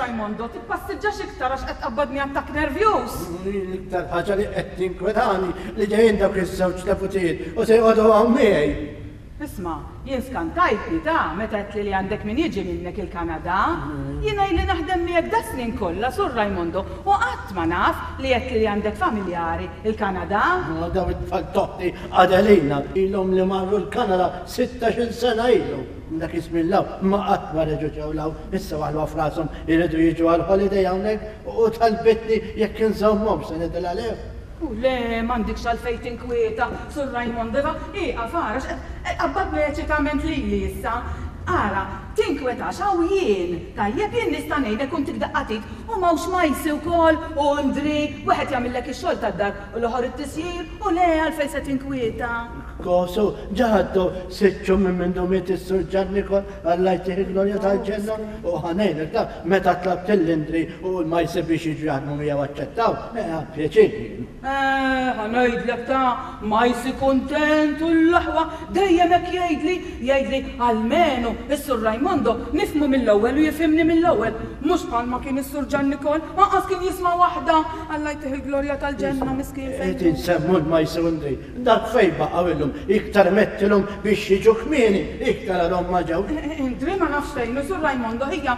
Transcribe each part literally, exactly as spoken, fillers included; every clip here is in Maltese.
Raimondo, tippassiġġax iktar għax qed tqabbadni attakk nervjuż. L-iktar ħaġa li qed tinkwetani li ġejjin dawk iż-żewġ neputijiet u se joqogħdu hawn miegħi. Isma', jien skantajtni ta' meta għedtli li għandek min jiġi minnek il-Kanada. Jiena ili naħdem miegħek das-snin kollha, Sur Raimondo, u qatt ma naf li għedtli li għandek familjari il-Kanada. Ma daw it-tfal t'oħti Adelina ilhom li marru l-Kanada sittax-il sena ilhom. Minn dak iż-żmien 'l hawn ma qatt ma reġgħu ġew 'l hawn. Issa waħluha f'rashom iridu jiġu għall-holiday hawnhekk u talbitni jekk inżommhomx se ngħidilha le. U le, m'għandikx għalfejn tinkwieta, Sur Raymond, iva, ieqaf ara x'qed qabbadni eċitament lili issa. Ara, tinkwetax, hawn jien, tajjeb, jien nista' ngħinek u ntik daqqa t'id, u m'hawnx Majsi wkoll, u Ndri, wieħed jagħmillek ix-xogħol tad-dar u l-ieħor it-tisjir, u le, għalfejn se tinkwieta. Kosu, ġa għaddew sitt xhur minn mindu miet is-Sur Ġan Nikol, Alla jtih il-glorja tal-ġenna, u ħa ngħidlek ta' meta tlabt lil Indri u l-Majsi biex jiġu jaħdmu miegħu aċċettaw, eh, ħadt pjaċir jien. Eh, ħa ngħidlek ta' Majsi kuntent u l-aħwa dejjem hekk jgħidli, jgħidli almenu is-Sur Raimondo nifhmu mill-ewwel u jifhimni mill-ewwel, mhux bħalma kien is-Sur Ġan Nikol, anqas kien jisma' waħda, Alla jtih il-glorja tal-ġenna miskin fejn Qed insemmu l-Majsi u Indri, dak fejn baqgħu illum, iktar mettilhom biex jiġu kmieni, iktar għadhom ma ġewx. Indri ma nafx fejn hu Sur Raimondo ħija,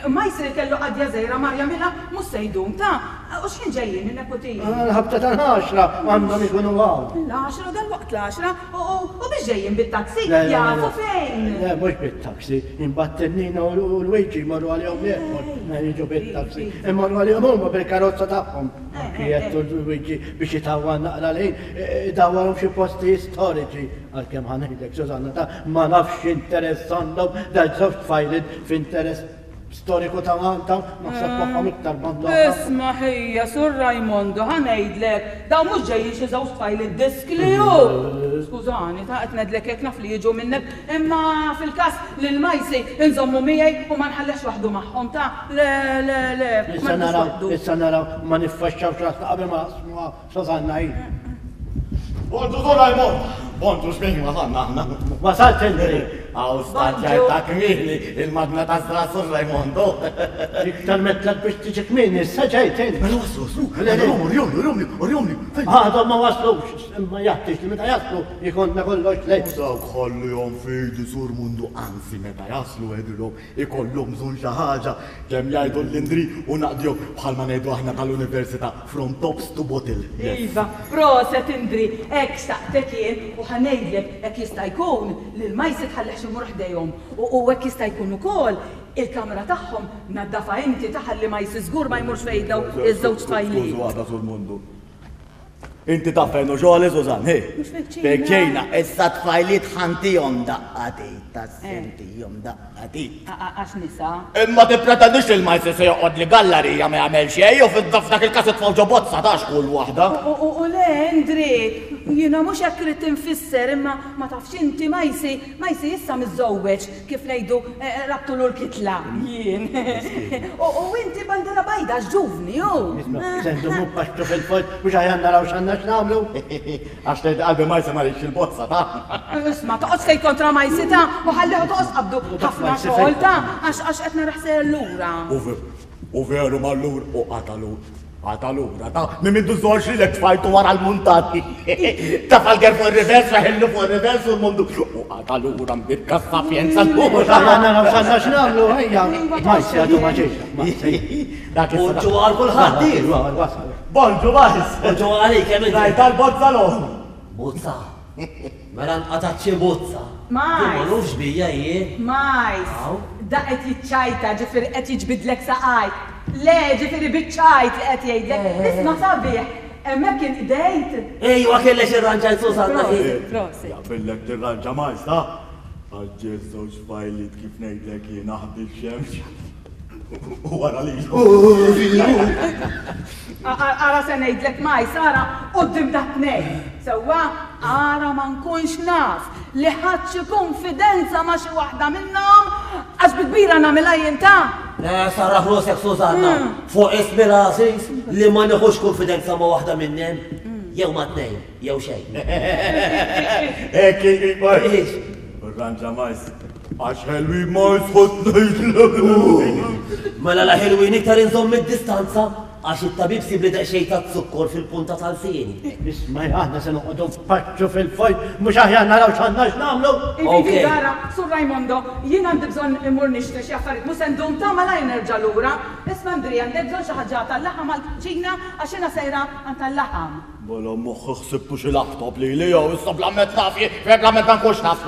Majsi li kellu qadja żgħira mar jagħmilha mhux se jdum ta', u x'ħin ġejjin in-neputini? Għall-ħabta tal-għaxra għandhom ikunu hawn. L-għaxra, dalwaqt l-għaxra, u biex ġejjin bit-taxi? Jafu fejn? Le, mhux bit-taxi, imbagħad Nina u Luigi jmorru għalihom l-airport, jiġu bit-taxi, imorru għalihom huma bil-karozza tagħhom. Anki għedtu Luigi biex itawwal naqra l-ħin, idawwarhom xi postijiet storiċi. Għalkemm ħa ngħidlek, Susanna, ta' ma nafx x'interess għandhom daż-żewġ tfajliet f'interess storiku ta' Malta, naħseb moħħhom iktar banda oħra. Isma' ħija, Sur Raimondo, ħa ngħidlek, dawn mhux ġejjin xi żewġ tfajliet diskli hu. Skużani, ta' qed ngħidlek hekk naf li jiġu minnek, imma fil-każ lil Majsi nżommu miegħi u ma nħallihx waħdu magħhom, ta' le, le, le, ma Issa nħallux naraw, waħdu. issa naraw, ma niffaxxawx rasna qabel ma naqsmuha, Susanna hi. Bonġu, Sur Raymond! Bonġu, x'min wasalna aħna? Wasalt inti! Hawn startjajt ta' kmieni, il-magna ta' żra Sur Raimondo. Iktar metlek biex tiġi kmieni, issa ġejt int. Mela waslu, waslu. Le, le, urjomli, urjomli, urjomli. Għadhom ma waslux, imma jaħtieġ li meta jaslu jkollna kollox lest. Dawk ħallihom f'idi Sur Mundu, anzi meta jaslu għedilhom ikollhom bżonn xi ħaġa, kemm jgħidu l-Indri u naqdihom bħalma ngħidu aħna tal-università, from tops to bottle. Yes. Iva, proset Indri, hekk xtaqtek jien u ħa ngħidlek hekk jista' jkun li l-Majsi tħallihx imur ħdejhom u hekk jista' jkun ukoll il-kamra tagħhom naddafha inti taħalli Majsi żgur ma jmurx fejn daw iż-żewġ tfajliet. Skużu għada Sur Mundu. Inti taf fejn hu xogħli, Susann, hi? Mhux fil-kċina. Fil-kċina, issa tfajliet ħantihom daqqa t'id, tas-sentihom daqqa t'id. Għax nisa. Imma tippretendix li l-Majsi se joqgħod li gallarija ma jagħmel xejn u f'dak il-każ itfgħu ġo bozza tax kull waħda. U le, Indri, jiena mhux hekk ridt infisser, imma ma tafx inti Majsi, Majsi issa miżżewweġ, kif ngħidu rabtulu l-kitla jien. U inti bandera bajda għax ġuvni hu. Isma', se ndumu npaxxu fil-fond mhux aħjar naraw x'għandna x'nagħmlu. Għax tgħid qalbi Majsi ma rridx il-bozza ta'. Isma', toqgħodx tgħid kontra Majsi ta' u ħallih toqgħodx qabdu ħafna xogħol ta' għax għax qed naraħ sejjer lura. U veru mallur u qatalu. Għatalura, ta' minn mindu żorx li lek tfajtu wara l-muntati. Ta' falger fuq il-rivers, raħillu fuq il-rivers u l-mundu. U għatalura mbirka s-sapjenza l-ura. Għanna naraw x'għandna x'nagħmlu, ejja. Majsi għadu ma ġiex, Majsi. Dak issa. Bonġu għal kulħadd. Wasal. Bonġu, Majs. Bonġu għalik, kemm inti. Rajt għal-bozza l-oħra. Bozza. Mela nqatat xi bozza. Majs. Ma nafx bija jien. Majs. Da qed jiċċajta, ġifieri qed jiġbidlek saqajk. Le, ġifieri biċ-ċajt li qed jgħidlek. Isma' sabiħ, hemmhekk inqdejt. Ejwa kellek irranġajt Susanna. Prosit, prosit. Jaqbillek tirranġa Majs, ta? Għax ġie żewġ fajliet kif ngħidlek jien aħdi x-xemx. U wara lilu. Ara se ngħidlek Majs, ara quddiem dat tnejn. Sewwa, ara ma nkunx naf li ħadd xi konfidenza ma' xi waħda minnhom għax bi kbira nagħmilha jien ta'. Le, sarraħ rosek Susanna, fuq ismi l-għażiż li ma nieħux konfidenza ma' waħda minnhom, jew ma' tnejn, jew xejn. Hekk Majs. Irranġa Majs. Għax ħelwi Majs ħodd ngħidlek. Mela la ħelwin iktar inżomm id-distanza għax it-tabib sib li daqsxejn ta' zukkor fil-punta tal-sieni. Isma' aħna se noqogħdu npaċċu fil-fojt, mhux aħjar naraw x'għandna x'nagħmlu. Ivi, Zara, Sur Raimondo, jien għandi bżonn immur nixtri xi affarijiet mhux se ndum ta' malajr nerġa' lura. Isma' Andrea, għandek bżonn xi ħaġa tal-laħam għall-kċina għax jiena sejra għand tal-laħam. Mela moħħi ħsibtu xi laptop li li jew issa bla met naf bla met ma nkunx naf.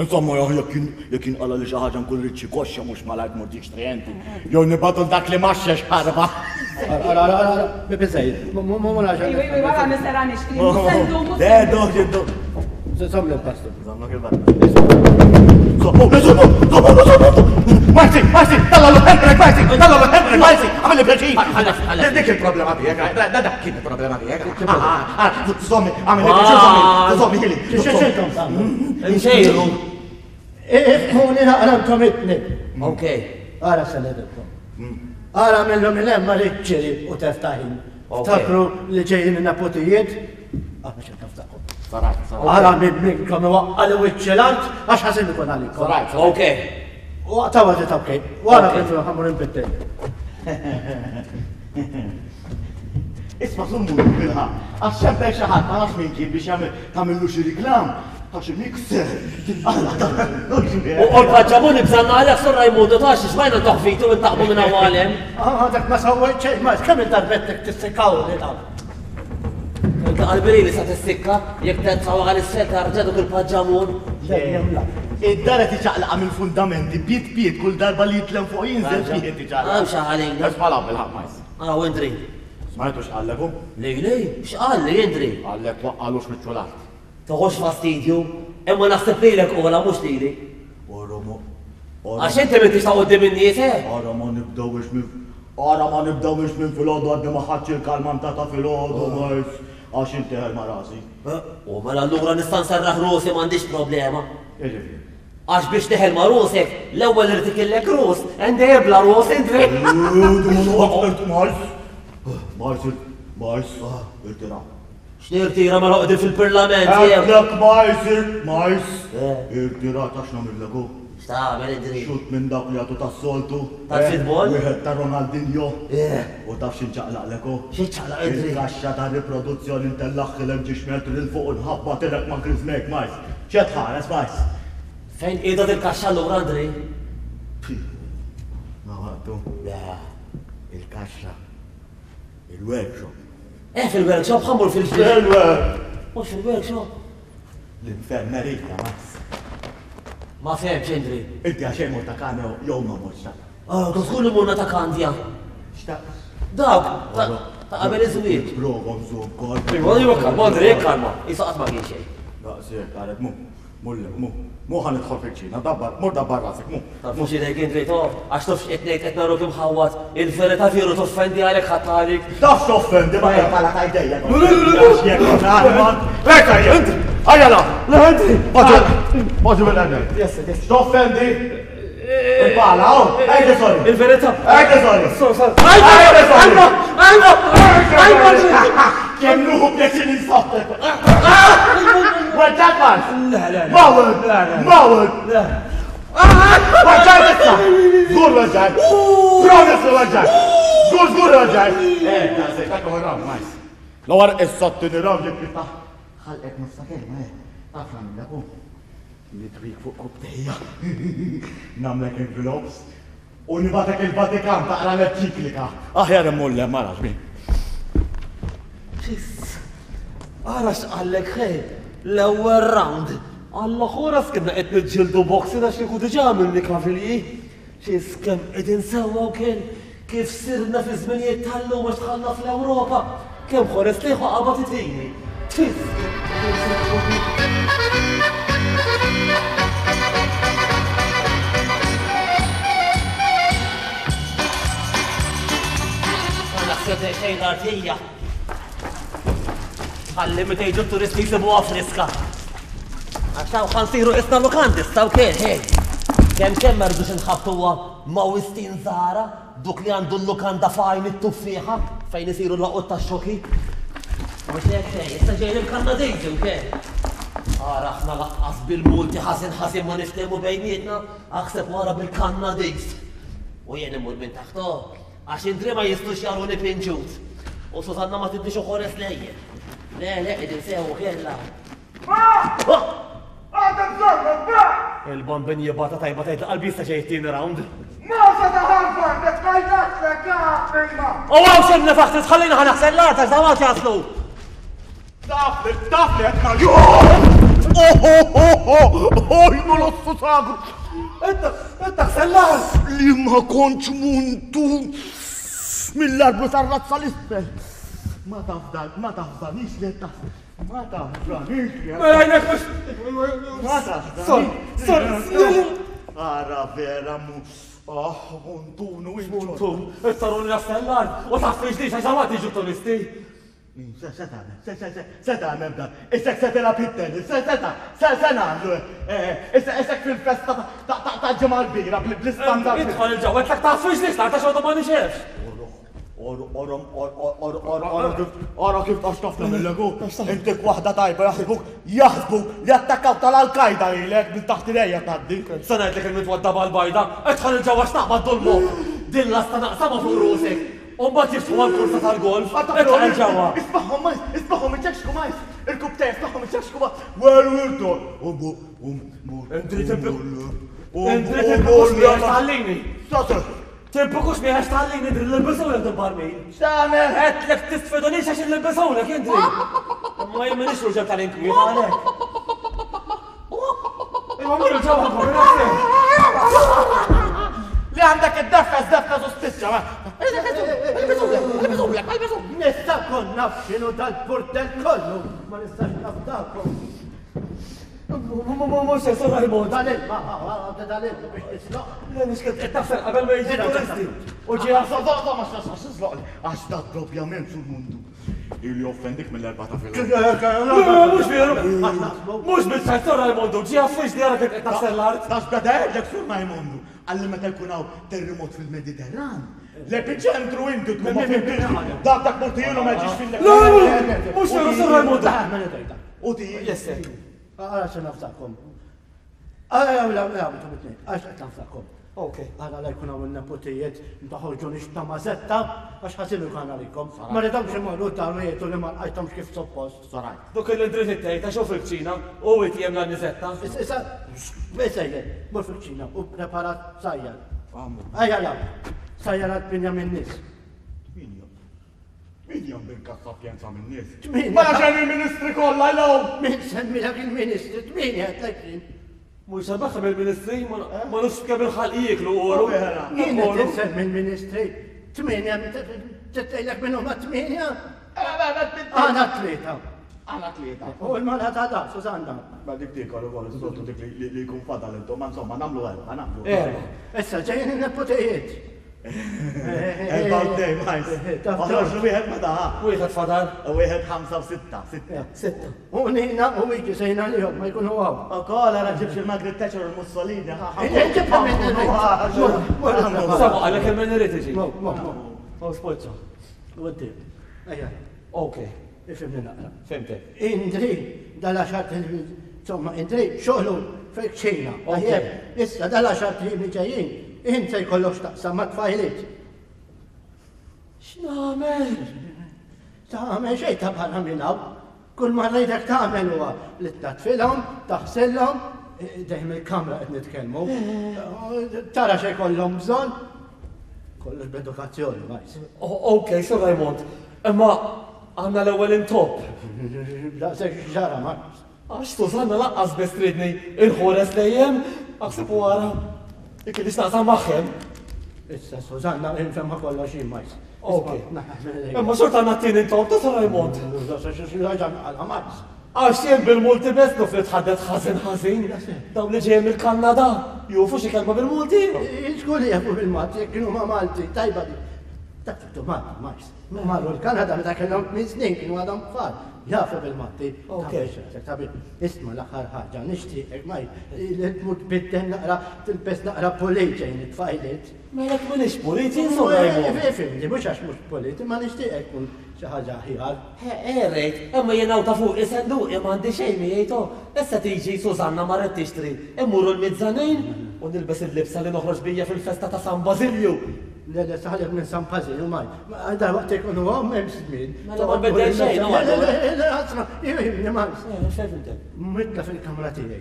Insomma jekk jekk inqala li xi ħaġa nkun rrid xi koxxa mhux malajr tmur tixtri enti. Jew nibgħatu dak li maxxex ħarba. Ara, ara, ara, biżejjed. Mu naġa. Iva, iva, wara nisera nixtri, mhux se ndum, mhux se Le, ndum. dok, dok. Żomm l-pastu. Żommlok il-pastu. Żommu, żommu, żommu, żommu. Marzi, Marzi, talla l-ħemrek, Marzi, talla l-ħemrek, Marzi, għamilli pjaċir. Dik il-problema tiegħek, da dak kien il-problema tiegħek. Zommi, għamilli pjaċir, zommi, zommi, ħili. X'intom tagħmlu? Nxejru. Ifhmuni naqra intom it-tnejn. Okej. Ara se ngħidilkom. Ara minnhom minn hemm ma riċċeri u teftaħin. Ftakru li ġejjin in-nepotijiet, aħna xejn naftakom. Ara minn minnkom iwaqqa' li wiċċ l-art għax ħażin ikun għalikom. Okej. Waqta għadit okej. Wara kif ħammur inbittel. Isma' summu bilħa, għax xempel xi ħadd ma nafx min kien biex jagħmel tagħmillu xi riklam ta' xi mixer. Alla ta' U l-paġġamuni bżanna għalek Sur Raimundo ta' xi xmajna toħfitu u ntaqbu minn hawn għalem. Ah, dak ma sawwejt xejn, ma kemm il-darbettek tissikkaw li dawn. Inta qalbi li sa tissikka jekk tertsaw għal isfel tarġa' duk il-paġġamun. Id-dar qed iċaqlaqa mill-fundamenti piet piet kull darba li jitlem fuq jinżel piet iċaqlaqa. Hawn xi ħalejna. Isma' la bilħaq majs. Araw Indri. Smajtu x'qallek hu? Lej lej, x'qal li Indri? Qallek waqqalux wiċċu l-art. Toħodx fastidju, imma naħseb lilek ola mhux lili. Ora ma. Għax inti m'intix ta' quddiem in-nies, eh? Ora ma nibdewx minn Ora ma nibdewx minn filgħodu għadni ma ħadx il-kalmantata filgħodu majs għax inti ħel ma' rasi. U mela allura nista' nserraħ rusi m'għandix problema. Jiġifieri. Għax biex teħel ma' rusek, l-ewwel irid ikillek rus, għandej bla rus Indri. Majs, majs, majs, irtira. X'nirtira mela qegħdin fil-parlament jew? Għedlek majs, majs, irtira ta' x'nagħmillek hu. X'tagħmel Indri? Xut minn dak li għatu tas-soltu. Tal-futbol? Wieħed ta' Ronaldinho. U taf x'inċaqlaqlek hu? X'inċaqlaq Indri? Il-kaxxa ta' riproduzzjoni ntellaħħilek ġiex metri 'l fuq u nħabba tilek ma' Chris Make, majs. X'qed tħares, majs? Fejn qiegħda dil-kaxxa allura Andri? Ma għaddu. Le. Il-kaxxa. Il-workshop. Eh, fil-workshop ħammur fil-ġdid. Fil-workshop. Mhux fil-workshop. L-infermerija, majs. Ma fehmx, Indri. Inti għax xejn mort ta' Kandja jew ma mortx ta' Ah, tkun imurna ta' Kandja. X'ta' Dawk, ta' qabel iż-żwieġ. Prova nżomm kalma. Iva, iva, kalma, Andri, kalma. Isa qatt ma kien xejn. Daqshekk, qalet mu. Mulle, mu. Mu ħa nidħol fil-ċina, dabbar, mur dabbar rasek, mu. Taf mhux idejk Indri, to, għax taf x'qed ngħid qed naruk imħawwad, il-verità veru toffendi għalek ħadd għalik. Taf toffendi ma hija bħala ta' idejja. Le, le, le, le, le. Lejta, Indri, ejja la. Le, Indri. Poġġi, poġġi mill-għedek. Yes, yes. Toffendi. Il-pala, oh, ejja sorry. Il-verità. Ejja sorry. Sorry, sorry. Ejja sorry. Ajma, ajma, ajma. Kemm nuhu pjaċir insottek. Weġġat mas? Le, le, le. Mawel, Le, le. mawel. Le. Weġġat issa. Żgur weġġat. Promise li weġġat. Żgur, żgur weġġat. Eh, daqshekk, dak huwa round, majs. L-ewwel issa t-tieni round jekk jiftaħ. Ħalqek nofsa kelma, eh. Taf nagħmilek hu. Nitwik fuq kubtejja. Nagħmlek envelopes. U nibatek il-Vatikan taqra l-enċiklika. Aħjar immur le, ma nafx min. Xiss. Ara x'qallek ħej, l-ewwel round. Alla ħoras kien qed niġġieldu boxing għax kieku diġà għamilni kavilji. Xiss kemm qegħdin sewwa u kien kif sirna fi żminijiet tal-lum għax dħalna fl-Ewropa. Kemm ħores liħu qabad itini. Xiss. Naħseb xejn l-artija. Ħalli meta jiġu t-turisti jsibuha friska. Għax hawn ħa nsiru isna lukandi issa wkoll, hej. Kemm kemm ma rridux inħabtuha ma' Wistin Zara, duk li għandu l-lukanda fajn it-tuffieħa fejn isiru l-laqut tax-xoki. Mhux hekk hej, issa ġejjin il-Kanadiżi wkoll. Ara aħna laqqas bil-multi ħażin ħażin ma niftehmu bejnietna, aħseb wara bil-Kanadiż. U jien immur minn taħtu, għax Indri ma jistux jaruni pinġut. U Susanna ma tidnix uħores lejjen. Le, le, qegħdin sew kella. Għadha bżonnok, ba! Il-bambin jibata tajba tgħid qalbi jista' ġej tieni round. Mawsa ta' Harvard, qed tgħidlek, prima! U għaw xejn nefaħt tħallina ħa naħsel l-art għax dawn jaslu. Taf li, taf li qed ngħid. Oh, oh, oh, oh, oh, jnu l-ossu sagru. Inta, inta ħsel l-art! Li ma kontx muntu mill-arblu tar-razza l-isfel. Ma tafdal, ma tafdanix li taf. Ma tafdanix li Mela għajnek mhux. Ma tafdanix. Sor, sor, Ara vera mu. Ah, muntunu Muntu, ittaruni naħsel l-art u taf li ġdid għax dawn jiġu turisti. Se se tagħmel, se se se se tagħmel dan. Isek se tilgħab it-tennis, se se ta' se se nagħmlu. Issa isek fil-festa ta' ta' ta' ġimgħa l-bira bl-istandard. Idħol il-ġewwa tlek taf xiex l-art għax għadu ma nixefx. Orom, ora kif tax tafna mill-legu. Intik waħda tajba jaħsbuk, jaħsbuk li attakkaw tal-Al-Qaeda lilek minn taħt idejja tgħaddi. Se ngħidlek il-mitwadda bal-bajda, idħol il-ġewwa x'naqbad dolmu. Din lasta naqsama fuq rusek. U mbagħad jiftħu għall-kursa tal-golf. Idħol il-ġewwa. Ismagħhom majs, ismagħhom iċċeċku majs. Il-kubtej, ismagħhom iċċeċku majs. Well, we're done. Umbu, um, Indri timpu. Indri timpukux miegħek tħallini. Sasser. Timpukux miegħek tħallini Indri l-ilbisulek dil-barmil. X'tagħmel? Għedtlek tisfidunix għax il-ilbisulek Indri. Ma jien m'iniex ruġel tal-inkwiet għalhekk. Imma mur il-ġewwa nagħsel. Li għandek id-defes, defes u spiċċa. Nista' nkun naf x'inhu dal-burdell kollu, ma nistax naf dakom. Mhux se Sur Raymond. Dal-ilma, dal-ilma biex tisloq. Le mhux kif qed taħsel qabel ma jiġu turisti. U ġie Għax dak propjament sul mundu. Ili offendik mill-erba ta' fil. Mhux veru. Mhux bil-ċajt Sur Raimondu, ġie għaffiex li jara kif qed taħsel l-art. Tax beda jgħidlek Sur Raimondu, għalli meta jkun hawn terremot fil-Mediterran. L-epiċentru inti tkun ma fimtix. Dak dak mortijilu ma ġiex fil Le, mhux veru Sur Raimondu. U ti. Yes, sir. Għara se naftakom. Għara, għara, għara, għax qed naftakom. Ok. Għara la jkun hawn il-nepotijiet, taħorġu ta' mażetta, għax ħasilu kan għalikom. Ma ridhomx imorru d-dar u jgħidu li ma lqajthomx kif suppost. Sorajt. Dok il-dritt it-tejta xew fil-kċina u itjem l-anniżetta. Issa, issa, mur fil-kċina u preparat sajjar. Għammu. Ejja la, sajjar għal tminja minn nies. Tminja. Tminja bil-kassapjenza minn nies. Tminja. Ma ġen il-ministri kollha jlaw. Min semmilek il-ministri, tminja qed jien. Mhux sabaħ mill-ministri, ma nafx kemm il-ħalq jieklu oru. Vera. Jien qed insemmi l-ministri. Tminja, tgħidlek minn huma tminja? Għana tlieta. Għana tlieta. U l-mara ta' da, Susanna. Ma dik tikol ukoll is-soltu dik li li jkun fadal intom, ma insomma nagħmlu erba' nagħmlu. Erba'. Issa ġejjin in-nepotijiet. Erba' u tnejn, majs. Taf- Oħroġ wieħed ma daħ. Wieħed fadal. Wieħed ħamsa u sitta, sitta. Sitta. U Nina u Wiki sejna lihom ma jkunu hawn. Ukoll ara ġibx il-Margaret Thatcher u l-Mussolini. ħa, ħa. Ġibha minn irrid. Mur, mur, mur. Sama għalek il-min irid iġi. Mur, mur, mur. U spoċċa. U d Ejja, Ok, ifhimni naqra. fimtek. Indri, dal-għaxar insomma, Indri, xogħlu fil-kċina. Ok. Tajjeb, issa dal-għaxar li ġejjin, int se jkollok x'taqsam ma' tfajliet. X'nagħmel? Tagħmel xejn ta' barra minn hawn. Kull ma rridek tagħmel huwa li tnatfilhom, taħsillhom, dejjem il-kamra qed nitkellmu. Tara xejn kollhom bżonn. Kollox b'edukazzjoni, majs. O- Ok, Sur Raymond. Imma għandna l-ewwel intop. Daqshekk ġara, Marcus. Għax Susanna laqqas biss tridni il-ħores dejjem, aħseb u ara. Ikki naqsam magħhem. Issa Susanna infemma kollox jien, majs. Ok. Imma xorta għandna t-tieni intop ta' Sur Raymond. Marcus. Għax jien bil-multi best nuf li tħaddet ħażin ħażin. Dawn li ġejjin mill-Kanada, jufu xi kelma bil-Multi. Żgur li jafu bil-Malti, jekk kienu ma' Malti, tajba di. Dak tuttu Malti, Marcus. Marru l-Kanada meta kellhom tmien snin kienu għadhom tfal. Jafu bil-Malti. Ok. Tabi, isma' l-aħħar ħaġa, nixtieqek ma li tmur tbiddel naqra, tilbes naqra pulit ġejjin it-tfajliet. Melek m'iniex pulit, jien Sur Raymond. Ifhimni, mhux għax mhux pulit, imma nixtieqek tkun xi ħaġa aħjar. Erejt, imma jien hawn ta' fuq isenduqi m'għandi xejn miegħi Issa tiġi Susanna marret tixtri, immuru l-mizzanin, U nilbes il-libsa li noħroġ bija fil-festa ta' San Basilju. Le, le, saħlek minn San Basilju, maj. Dar waqt ikunu għom, hemm żmien. Mela ma nbeddel xejn, Le, le, le, le, ħasra, jimni, maj. Xejn Mitla fil-kamra tiegħi.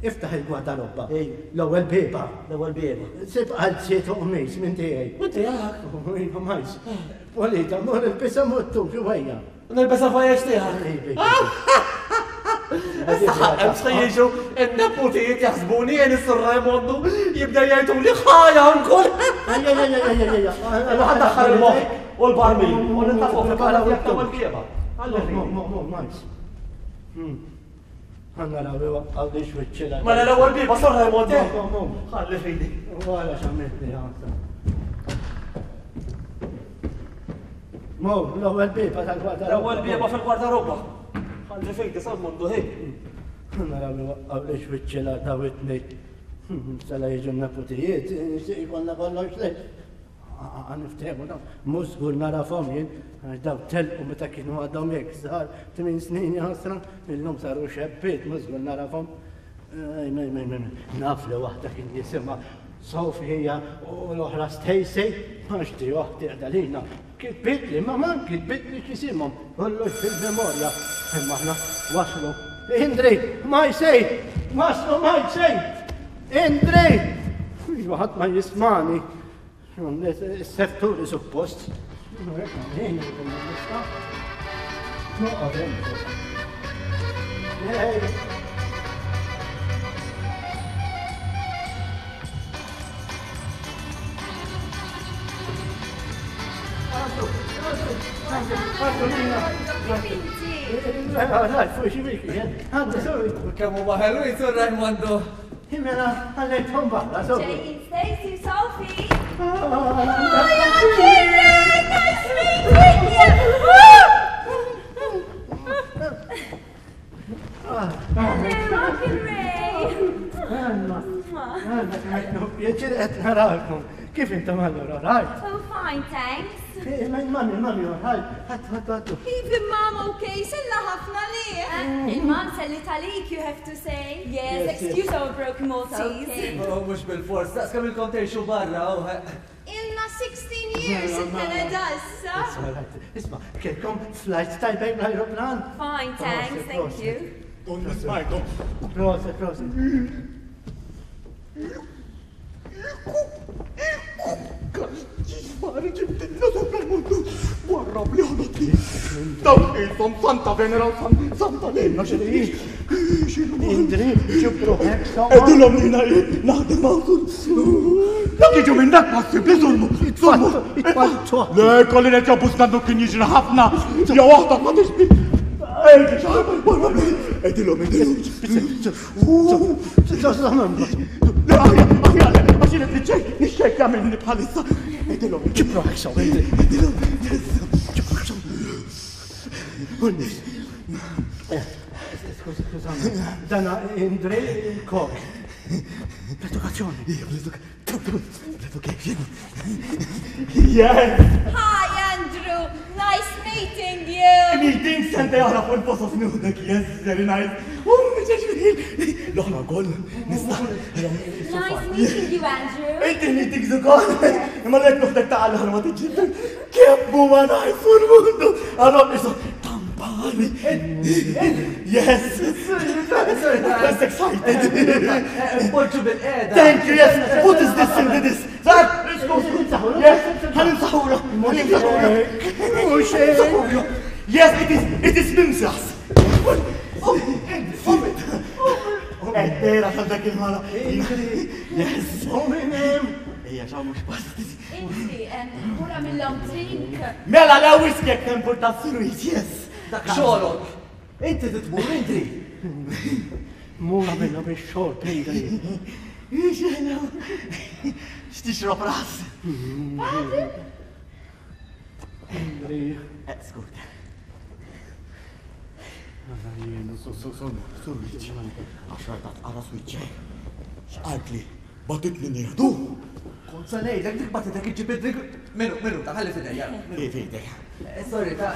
Iftaħ il-gwardarobba. Ej. L-ewwel bieba. L-ewwel bieba. Sib qalziet u qmis minn tiegħi. Minn tiegħek? Iva, majs. Polita, mur il-bisa muttu, xi Nilbes il-ħwejjeġ tiegħek. Issa se jiġu n-nepotijiet jaħsbuni jien is-Sur Raimondu jibda jgħidu li ħajja ankol. Ejja, ejja, ejja, ejja. Imma ħa il-moħħ u l-barmil u nitla' fil-kamra tiegħek l-ewwel bieba. Mo, mo, mo, majs. Għanna rawi waqqaw li xwiċċila. Mela l-ewwel bieba Sur Raimondi. Mo, mo, mo. Ħalli fidi. Wara x'għamiltni ħansa. Mo, l-ewwel bieba tal-gwardarobba. L-ewwel bieba fil-gwardarobba. Ħalli fidi Sur Mondu ħej. Għanna rawi waqqaw li xwiċċila daw it-tnejn. Sala jiġu n-nepotijiet, jkollna kollox lejn. Għaniftehmu daw, mhux żgur narafhom jien, għax daw telqu meta kienu għadhom hekk żgħar, tmien snin jaħasra, illum saru xebbiet, mhux żgur narafhom. Ej, mej, mej, mej, naf li waħda kien jisimha Sofija u l-oħra Stacy, għax di oħti qiegħda lilna. Kitbitli, mamma, kitbitli x'isimhom, kollox fil-memorja. Imma aħna waslu. Indri, ma jsej, waslu ma jsej. Indri! Iva ħadd ma jismani. Is-sefturi suppost. Noqgħod hemm. Ej. Kemm huma ħelwin Sur Raimondu. Mela, ħallejthom barra, sorry. Ġejjin Stacy, Sophie. Ah, Hi, Uncle Ray, nice meeting you. Hello, Uncle Ray. Anna, Anna, pjaċir qed narakom. Kif intom allura, right? Oh, fine, thanks. Mami, mami, right. Ħadd, ħadd, ħadd. Even mom okay, sella ħafna li. Il-mom selli talik, you have to say. Yes, Yes, excuse our broken Maltese. Okay. Oh, mhux bil-fors, daqs kemm ilkom tgħixu barra u Ilna sixteen years in Canada issa. Isma, right. Isma, kelkom flight tajbejn l-aeroplan? Fine, thanks, thank you. Donna smajtom. Proset, proset. Ġibtilna sopra l-mundu, warra li ħadotni. Daw qishom Santa Venera u Santa Lena xi Indri, ġibru hekk sewwa. Għedilhom li naħdem għawżur. Dak jiġu minn dak possibbli żurmu. Żurmu. Itfattu. Le, kolli nerġa' busnandu kien jiġri ħafna. Ja waħda ma tixbi. Ejdi, xarba, warra li. Għedilhom, għedilhom. Le, aħjar, aħjar, għax jien qed niċċejk, nixxejkja minni bħalissa. Għedilhom. Ġibru hekk sewwa, Indri. Għedilhom, yes. Ġibru hekk sewwa. Skużani, dana Indri Kok. L-edukazzjoni. L-education. Yes! Hi, Andrew. Nice meeting you. Meeting sente oħra fuq il-posos nuħdek, yes, very nice. U l-oħra wkoll nista'. Nice meeting you, Andrew. Inti meetings ukoll. Imma lek nuħdek ta' l-oħra ma tiġi. Kemm huwa nice fuq il-mundu. Allora isu tampani. Yes. That's excited. Poġġu bil-qiegħda. Thank you, yes. What is this into this? Zach, let's go. Yes, ħaninsaħura. Ħaninsaħura. Yes, it is, it is mimsas. Eddera tal dak il-mara. Yes. Ejja, xaw mux pasti. Inti, mura mill-long drink. Mela, la whisky jek tempur ta' sweet, yes. Dak xogħolok. Inti titmur, Indri. Mura minna biex xorb, Indri. Xena. X'tixrob ras? Indri. Skut. Switch. Għaxar ta' tqara switch. X'qalt li batitni nieħdu. Kont se ngħidlek dik bagħtitek iġġib id-drink. Minu, minu, ta' ħalli f'idejja. Fidek. Sorry, ta'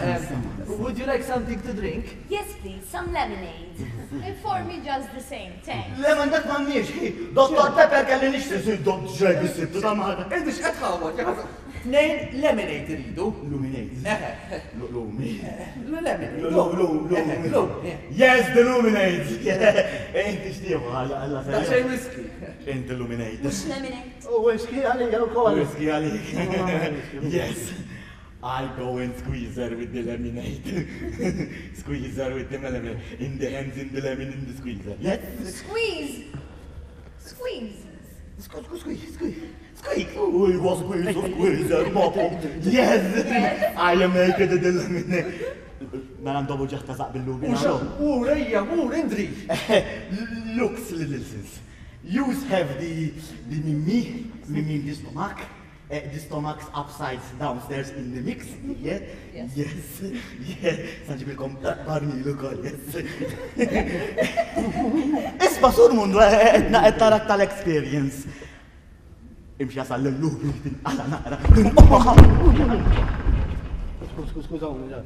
would you like something to drink? Yes, please, some lemonade. For me just the same, thanks. Lemon dak m'għandniex, Dottor Pepper kelli nixtri dot ġej bis-sibtu ta' Malta. Inti x'qed tħawwad, jekk tnejn lemonade iridu. Luminate. Eħe. Lumi. Lemonade. Lumi. Lumi. Yes, the luminate. Inti xtieħu għalla għalla. Daqsxejn whisky. Inti illuminate. Mhux lemonade. U whisky għalija wkoll. Whisky għalik. Yes. I go and squeeze her with the lemonade. Squeeze her with the lemonade. In the hands, in the lemon, in the squeezer. Yes? Squeeze! Squeeze! Squeeze, squeeze, squeeze. Squeeze. Oh, it was squeeze, squeeze, bottle. Yes! I am naked in the lemonade. Mela ndobu ġaħta zaq bil-lubi. Ur, ejja, ur, Indri. Looks, little sis. You have the, the mimi, mimi in the stomach. Uh, the stomach's upside downstairs in the mix. Yeah? Yes. Yes. Yeah. Sanġibilkom barmil ukoll, yes. Isma sur mundu, etna tarak tal-experience. Imxi jasal l-lubi, tinqala naqra. Skużawni,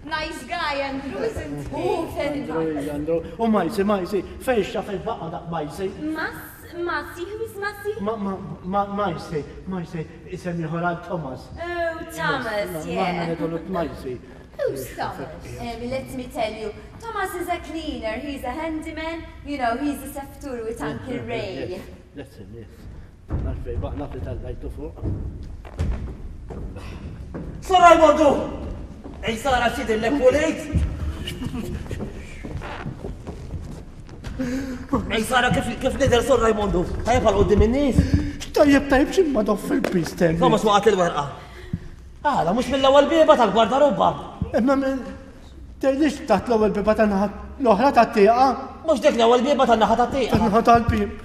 Nice guy, Andrew, isn't he? Oh, very nice. Andrew. U Majsi, Majsi, fejn xaf il-baqa dak Majsi? Mas, Masi, who is Masi? Ma, ma, ma, Majsi, Majsi, isem ieħor għal Thomas. Oh, Thomas, Ma, yeah. ngħidulu Majsi. Who's Thomas? Um, let me tell you, Thomas is a cleaner, he's a handyman, you know, he's a seftur with Uncle Ray. That's him, yes. Naf fej baq naf li tal-lajtu fuq. Sur Rajmondu! Ej Sara xidillek pulit! Ej Sara kif kif nidher Sur Rajmondu? Tajjeb għal quddiem in-nies? Tajjeb, tajjeb, x'imma doff fil-pistol. Thomas waqgħet il-werqa. Għala, mhux mill-ewwel bieba tal-gwardarobba. Imma minn tgħidlix taħt l-ewwel bieba tan-naħa l-oħra tat-tieqa. Mhux dik l-ewwel bieba tan-naħa tat-tieqa. Tan-naħa tal-bib.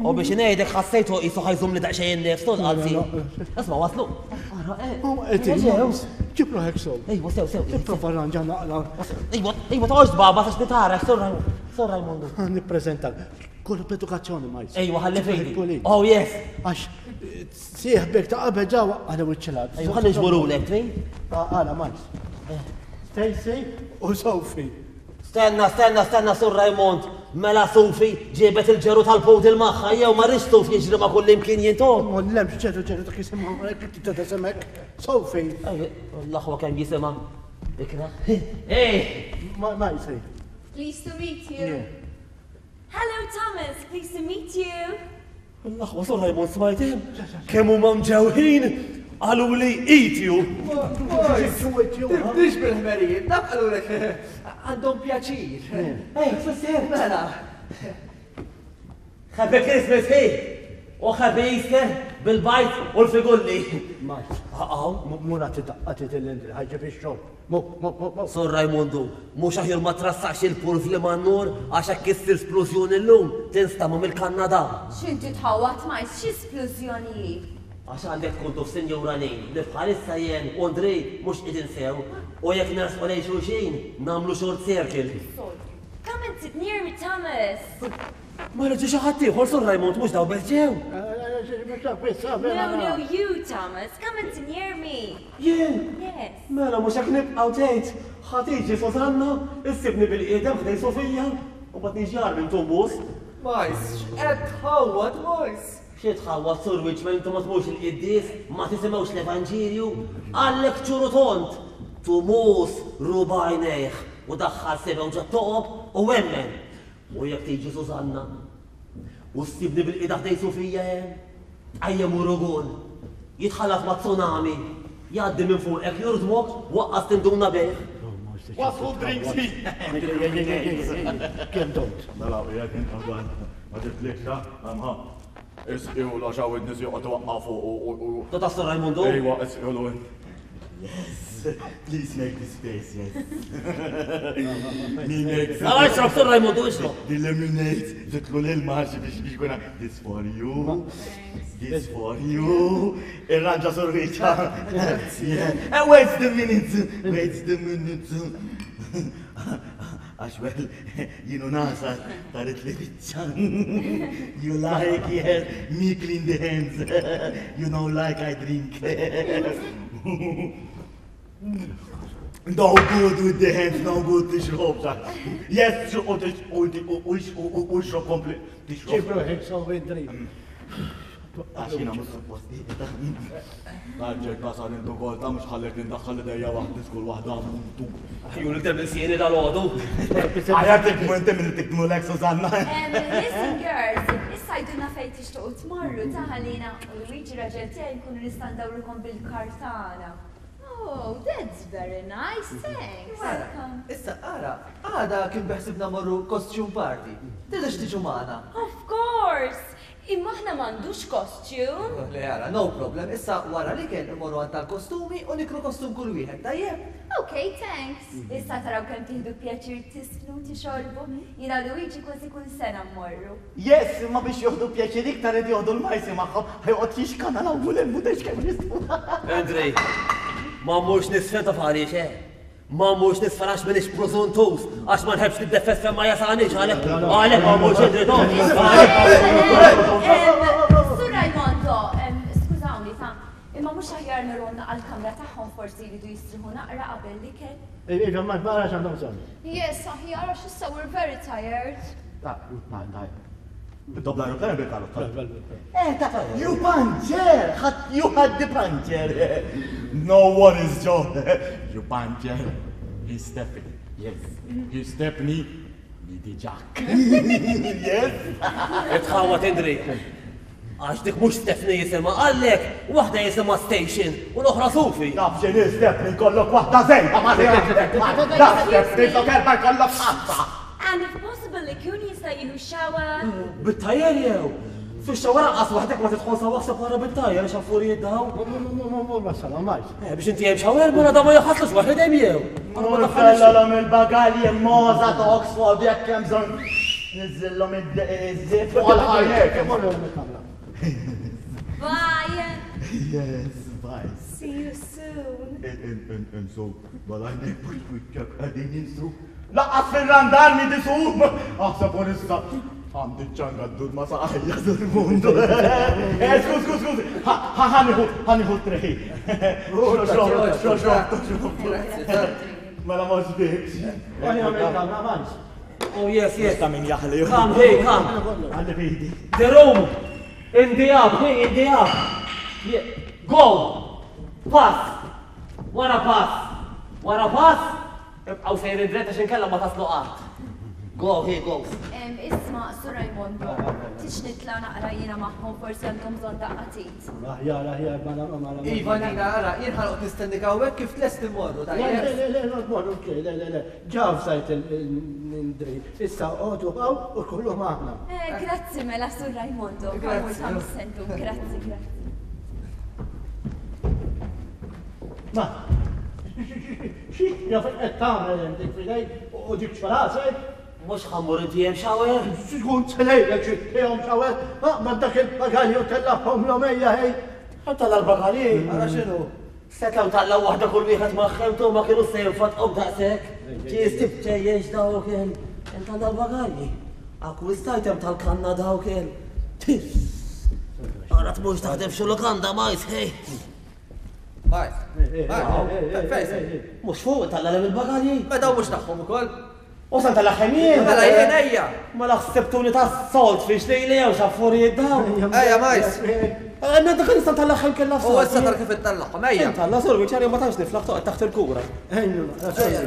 U biex ngħidek ħassejtu qisu ħajżum li daqsxejn in-nifs tonqalsi. Isma' waslu. Ara, eh. Ġew. Ġib ruħek sew. Ejwa, sew, sew. Ipprova ranġa naqra. Ejwa, ejwa toqgħodx tbaba għax nitarek, Sur Sur Rajmondu. Nippreżentak. Kollu b'edukazzjoni Majs. Ejwa, ħalli fejdi. Oh yes. Għax sieħbek ta' qabel ġewwa għala wiċċilat. Ejwa, ħalli ġburulek, trid? Għala Majs. Stacy u Sophie. Stenna, stenna, stenna, Sur Raymond. Mela Sophie ġiebet il-ġeru tal-poodle magħha jew ma rridx Sophie jiġri ma' kull imkien jintom. Ma lemx ġeru ġeru dak jisimha, tita isimek. Sophie. L-aħwa kemm jisimha. Ikra. Ej! Majsi. Pleased to meet you. Hello, Thomas. Pleased to meet you. L-aħwa Sur Raymond smajtim. Kemm huma mġewħin qalu li eat you. Tibdix bil-ħmerijiet, dak qalulek għandhom pjaċir. Ej, tfisser. Mela. Happy Christmas, hey! U happy Easter bil-bajt u l-figulli. Majs. Għaw. Mura tidaqqa tidil-indri, ħajġib ix-xorb. Mu, mu, mu, mu. Sur Rajmondu, mhux aħjar ma trassax il-pulf li man-nur għax hekk issir splużjoni llum tinstama' mill-Kanada. X'inti tħawwad Majs, xi splużjoni? Għax għandek tkun tuf Sinjura Lejn li bħalissa jien u Andrej mhux qegħdin sew u jekk nersqu lejn xulxin nagħmlu short circle. Come and sit near me, Thomas. Ma reġgħu xi ħadd ieħor Sur Raymond mhux daw bes ġew. No, no, you, Thomas. Come and sit near me. Jien? Yes. Mela mhux hekk nibqgħu tgħid. Ħa tiġi Susanna, issibni bil-qiedem ħdej Sofija u mbagħad niġi jar minn tumbus. Majs, x'qed tħawwad Majs? Xi tħawwad Sur Wiċ intom ma tmux il-qiddies, ma tisimgħux l-Evanġelju, għallek ċuru tont. Tumus ruba għajnejh u daħħal sebgħu ġo toqob u emmen. U jekk tiġi Susanna u ssibni bil-qiegħda ħdej Sofija hemm, tqajjem urugun, jitħallat ma' tsunami, jgħaddi minn fuqek jurdmok, waqqas tinduna bih. Waslu drinks. Kemm dont? Mela, qiegħed inqabad. Ma tiflikx, ha? Isqilu għax hawn in-nies joqgħod waqqa fuq u u. Ta' Sur Rajmondu? Ejwa, isqilu int. Yes, please make this face, yes. Me make Ah, ixrob Sur Rajmondu, ixrob. The lemonade, zitlu l-ilma biex biex kuna. This for you, this for you. Irranġa Sur Richard. Yeah. Wait the minute, wait the minute. Għax well, jienu nasar tarit li biċċa. You like, yes, me clean the hands. You know, like I drink. No good with the hands, no good tixrob. Yes, u tixrob kompli. Ġib ruħek so Indri. Għax jiena mhux suppost. Tarġek nasar intu kol ta' mhux ħallek nindaħħal idejja waħdi skull waħda muntu. Ju l-iktar minn sieni dal-għodu. Għajar tikmu inti minn tikmu l-ek Susanna. Listen girls, issa jduna fejn tixtuqu tmorru ta' ħalina u Luigi raġel tiegħi nkunu nista' ndawrukom bil-kartana. Oh, that's very nice, thanks. Welcome. Issa, ara, għada kien beħsibna morru costume party. Tidux tiġu magħna. Of course! Imma aħna m'għandux costume. Le, ara, no problem. Issa wara li kien imorru għand tal-kostumi u nikru kostum kull wieħed, tajjeb? Okay, thanks. Issa taraw kemm tieħdu pjaċir tisfnu tixorbu. Jiena Luigi kważi kull sena mmorru. Yes, imma biex joħdu pjaċir iktar qed joħdu l-majsi magħhom, ħajqgħod jixkana l-ewwel hemm u kemm jistgħu. Andrej, ma mmurx nisfen ta' għaliex, eh? Ma mmurx nisfen għax minix prożuntus, għax ma nħebbx niddeffes fejn ma jasalniex, għalhekk għalhekk ma mmurx Andrej, no. Sur Raimondo, skużawni ta' imma mhux aħjar nironna għall-kamra tagħhom forsi jridu jistriħu naqra qabel l-ikel. Iva, ma narax għandhom bżonn. Yes, aħjar għax issa we're very tired. Daj. Bid-dobla aeroplan bil-karozza. Eh, ta' you puncture! You had the puncture! No worries, Joe. You puncture. He stepped. Yes. He stepped me. Midi Jack. Yes. Itħawat Indri. Għax dik mhux Stephanie jisimha, għallek waħda jisimha Station u l-oħra Sufi. Taf x'inhi Stephanie kollok waħda żejda ma Taf Stephanie flok erba' jkollok ħamsa. And if possible, ikun jista' jieħu shower. Bit-tajer jew? Fix-shower anqas waħdek ma tidħol sa waħseb wara bit-tajer għax affarijiet daw. Mur wasal, majs. Eh, biex inti hemm shower mela da ma jaħaslux waħed hemm jew. Mur tellhom il-bagalji moza ta' Oxford jekk hemm bżonn niżżilhom iż-żiet fuq għal-ħajjek. Bye. Yes, bye. See you soon. Insu, balajnek mux wiċċek qegħdin insu. Laqqas fil-randar mi disu. Aħseb u nissa. Għandi ċanga d-dur ma saqajja dur mundu. Eh, skuż, skuż, skuż. Ħaniħu, ħaniħu treħi. Xro, xro, xro. Mela ma ġbikx. Oh yes, yes. Ta' min jaħli. Come, hey, come. Għalli fidi. The room. In the up, hey, in the up. Yeah. Go. Pass. Wara pass. Wara pass. Ibqgħu sejrin dritt għax inkella ma taslu qatt. Go, here goes. Isma, Sur Raimondo, tix nitla naqra jiena magħhom forsi għandhom bżonn daqqa tit. Aħjar, aħjar, mela, mela. Iva, Nina, ara, jien ħanoqgħod nistennik hawnhekk kif tlest immorru, Le, tajjeb? le, le, le, morru, le, le, le, ġaw sajt il-Indri. Issa, għodu għaw u kullu maħna. Eh, grazzi mela, Sur Raimondo. Grazzi. Grazzi. Grazzi, grazzi. Ma, xi jaf qed tagħmel hemm dik fidej u dik xfarasek? Mhux ħammur inti hemm shower? Xkun selejlek xi tihom shower? Ma dak il-bagalji u tellahom l-omejja hej. Tella l-bagalji. Ara x'inhu? Setgħu taqlaw waħda kull wieħed magħhom ma kienu se jinfatqhom daqshekk. Ġies tibċejjex dawk il. Intalla l-bagalji. Akkwistajt hemm tal-kanna dawk il. Ara tmurx taħdem xi lukanda majs, hej. Majs. Majs. Mhux fuq talla il-bagalji. Ma daw mhux tagħhom ukoll. U san tal-aħħem jien. Mela jien ejja. Mela ħsibtuni ta' salt fiex li li jew xaffurijiet daw. Ejja majs. Għanna dak nista' tal-aħħem kellha U issa tar kif ittellagħhom ejja. Talla sur wiċċarja ma tantx niflaħ toqgħod taħt il-kura. Ejju, sorry.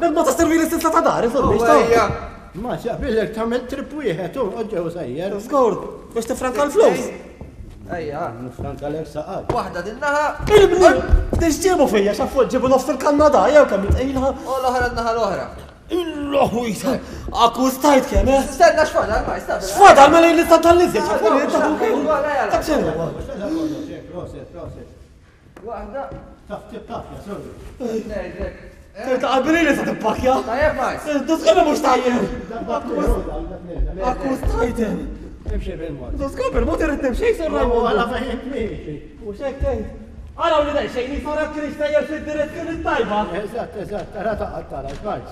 Ma ta' servi l-istess ta' dar, sur biex Ejja. Ma xaqbilek tagħmel trip wieħed u ġew sejjer. Skur, biex tifranka l-flus. Ejja. Nifranka l saqal. Waħda din naħa. Il-bni, biex ġibu fija, xafu ġibu nofs il-Kanada, jew kemm itqilha. U l-oħra n-naħa l-oħra. Illahu jisa, akkustajt kemm, eh? Stenna x'fadal, ma jista' X'fadal mela li sta tal-iżjed, xafu li ta' x'inhu? Proset, proset. Waħda. Taf tip taf, ja, sorry. Ngħidlek. Trid taqbili li se tippakja. Tajjeb majs. Duskome mhux tajjeb. Akkustajt. Imxi bil-mod. Duskome bil-mod irid nimxi, sur Raymond. Għala fejn miexi. U x'hekk tgħid? Araw li daqsxejn jisara kienx tajjeb fid-direzzjoni tajba. Eżatt, eżatt, ara taqgħod tara, x'majs.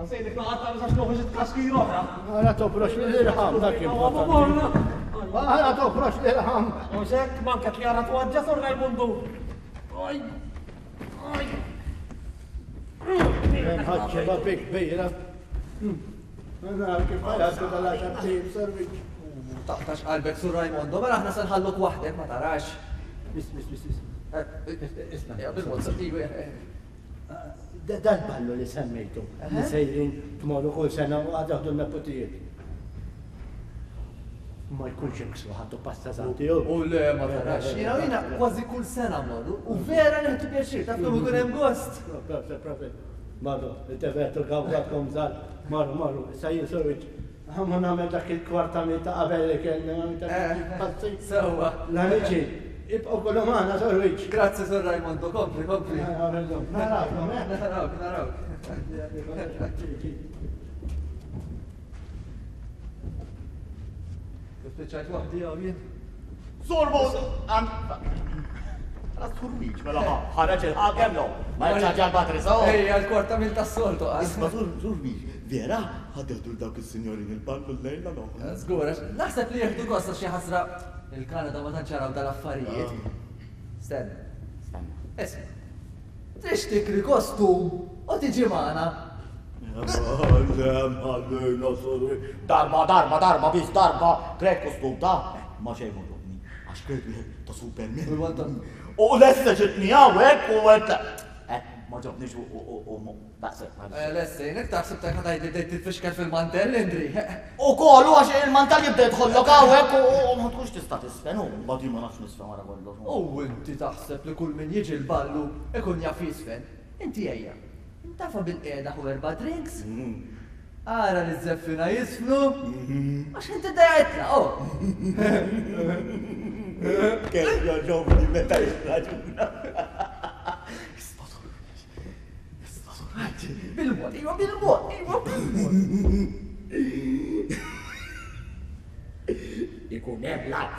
Għansejlik noqgħod għax noħroġ it-tkaxkir oħra. Għara toprox l-irħam dak importanti. Għara toprox l-irħam. U xek, manka li għara twaġġa Sur Rajmundu. Oj, oj. Ħadċeba bik kbira. Nara kif ħajatu dal-għaxar tim, serviċ. Taqtax qalbek Sur Rajmondo, mela aħna se nħalluk waħdek ma tarax. Is, is, is, is. Isma. Ja, bil-mod, Dal-ballu li semmejtu, li sejrin tmorru kull sena u għad jaħdu l-neputijiet. Ma jkunx hemm ħaddu pasta santi. U le, ma tarax. Jiena jiena kważi kull sena mmorru u vera neħdu pjaċir, taf kemm ikun hemm gost. Proset, proset. Marru, it-tevetu gawgatkom żgħar. Marru, marru, issa jien sorriċ. Ħamma nagħmel dak il-kwarta mil ta' qabel li kellna passi. Sewwa. L-amiċi, ibqgħu kollu magħna sorriċ. Grazzi Sur Rajmondo, kompli, kompli. Narawkom, eh? Narawk, narawk. Spiċċajt waħdi hawn jien. Sur Mod, Għala surwiċ, mela ħareġ il-ħakem no. Ma jċaġa l-batri so. Ejja, l-kwarta mil tas-soltu. Isma' surwiċ, vera ħadeħdu l-dawk il-sinjorin il-ballu l-lejla no. Żgur, naħseb li jieħdu gost għax xi ħasra il-Kanada ma tantx jaraw dal-affarijiet. Stenna. Stenna. Isma'. Trix tikri kostum u tiġi magħna. Darba, darba, darba, bis darba, krejt kostum ta' ma xejn ma ġobni, għax krejt wieħed ta' Superman. U lesse ġitni hawnhekk u għedt, eh, ma ġobnix u daqshekk. Lesse, jinek taħseb ta' ħadd bdejt titfixkel fil-mantell, Indri. U kollu għax il-mantell jibda jidħollok hawnhekk u ma tkunx tista' tisfen u mbagħad jien ma nafx nisfen wara kollox. U inti taħseb li kull min jiġi l-ballu ikun jaf jisfen. Inti ejja. Intafa bil-qiegħda u erba' drinks. Ara li z-zeffina jisfnu. Għax inti dajtla, oh. Kemm joġobni meta jirraġuna. Bil-mod, iwa bil-mod, iwa bil-mod. Ikun hemm lat.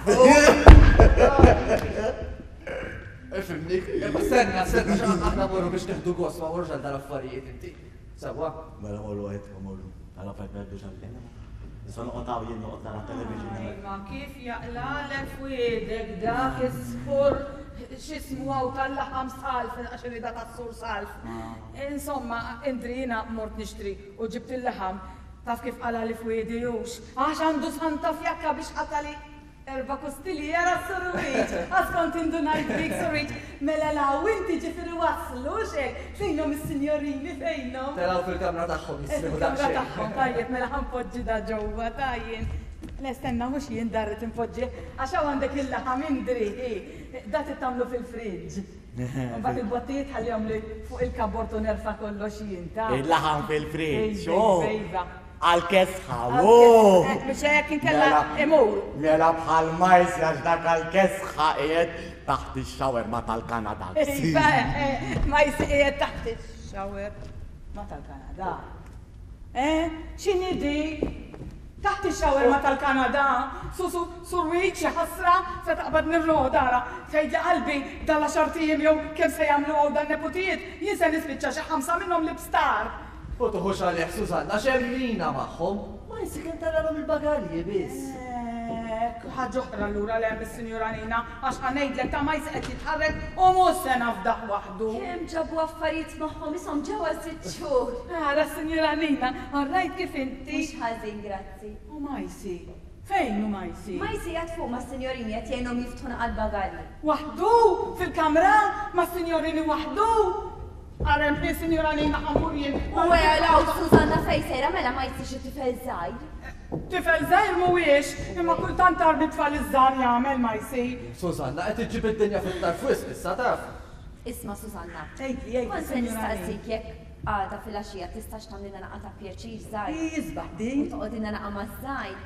Ifimni, imma stenna, stenna, aħna morru biex neħdu gost, ma morrux għal dal-affarijiet inti. Sewwa? Mela morru għed, morru. Għala fajt merdu xallina. Issa noqgħod hawn jien noqgħod nara television. Ma kif jaqlalek f'wiedek dak is-sfur x'ismu hawn tal-laħam salf, għax irida tas-sur salf. Insomma, Indri jiena mort nixtri u ġibt il-laħam. Taf kif qala li f'wiedi hux. Għax għandu santa fjakka biex qatali erba' kostiliera surwiċ. Għax kont indunajt bik surwiċ. Mela law inti ġifieri waslu xejn. Fejnhom is-sinjorini fejnhom? Telgħu fil-kamra tagħhom jisriħu Fil-kamra daqsxejn. tagħhom, tajjeb, mela ħanpoġġi da ġewwa tajjeb. Le stenna mhux jien darret inpoġġi għax hawn għandek il-laħam Indri, hi. Da tittamlu fil-friġġ. Mbagħad il-bottijiet ħallihom li fuq il-kabord u nerfa' kollox jien ta' Il-laħam fil-friġġ, Iva, oh. iva. Għal-kesħa, Għal-kesħa, oh. biex hekk inkella Mela, imur. Mela bħal majs għax dak għal-kesħa qiegħed taħt ix-xawer ma tal-Kanada. Iva, eh, majs qiegħed taħt ix-xawer ma tal-Kanada. Eh, x'inhi di? Taħt ix-xawer ma tal-Kanada, su su surwiċ ħasra se taqbad nirroda ara. Tgħidli qalbi dal-għaxar ijiem jew kemm se jagħmlu hawn dan neputijiet, jien se nispiċċa xi ħamsa minnhom l-ibstar. U tuħux għalih Susanna, xemmina magħhom. Ma jinsi kemm taralhom il-bagalji biss. Ek, ħaġa oħra allura le mis-Sinjura Nina, għax ħanejdlek ta' ma qed jitħarrek u mhux se nafdaħ waħdu. Kemm ġabu affarijiet magħhom ishom ġewwa sitt xhur. Ara Sinjura Nina, orrajt kif inti. Mhux ħażin, grazzi. U Majsi, fejn hu Majsi? Majsi qed fuq mas-sinjorini qed jgħinhom jiftħu naqal bagalji. Waħdu fil-kamra mas-sinjorini waħdu? Ara hemm Sinjura Nina ħammur jien. U għalaw Susanna fejn sejra mela ma jsirx tifel żgħir. Tifel żgħir mhuwiex, imma kultant tarbi tfal iż-żgħar jagħmel ma jsir. Susanna qed iġġib id-dinja fit-tarf wisq issa taf. Isma' Susanna. Tgħidli, jgħidli, Kont se Sinjura Nina. nistaqsik jekk għada fil-għaxija tistax tagħmlilna naqa ta' pjaċir żgħir. Jisbaħ din. U toqgħodilna naqa maż-żgħir.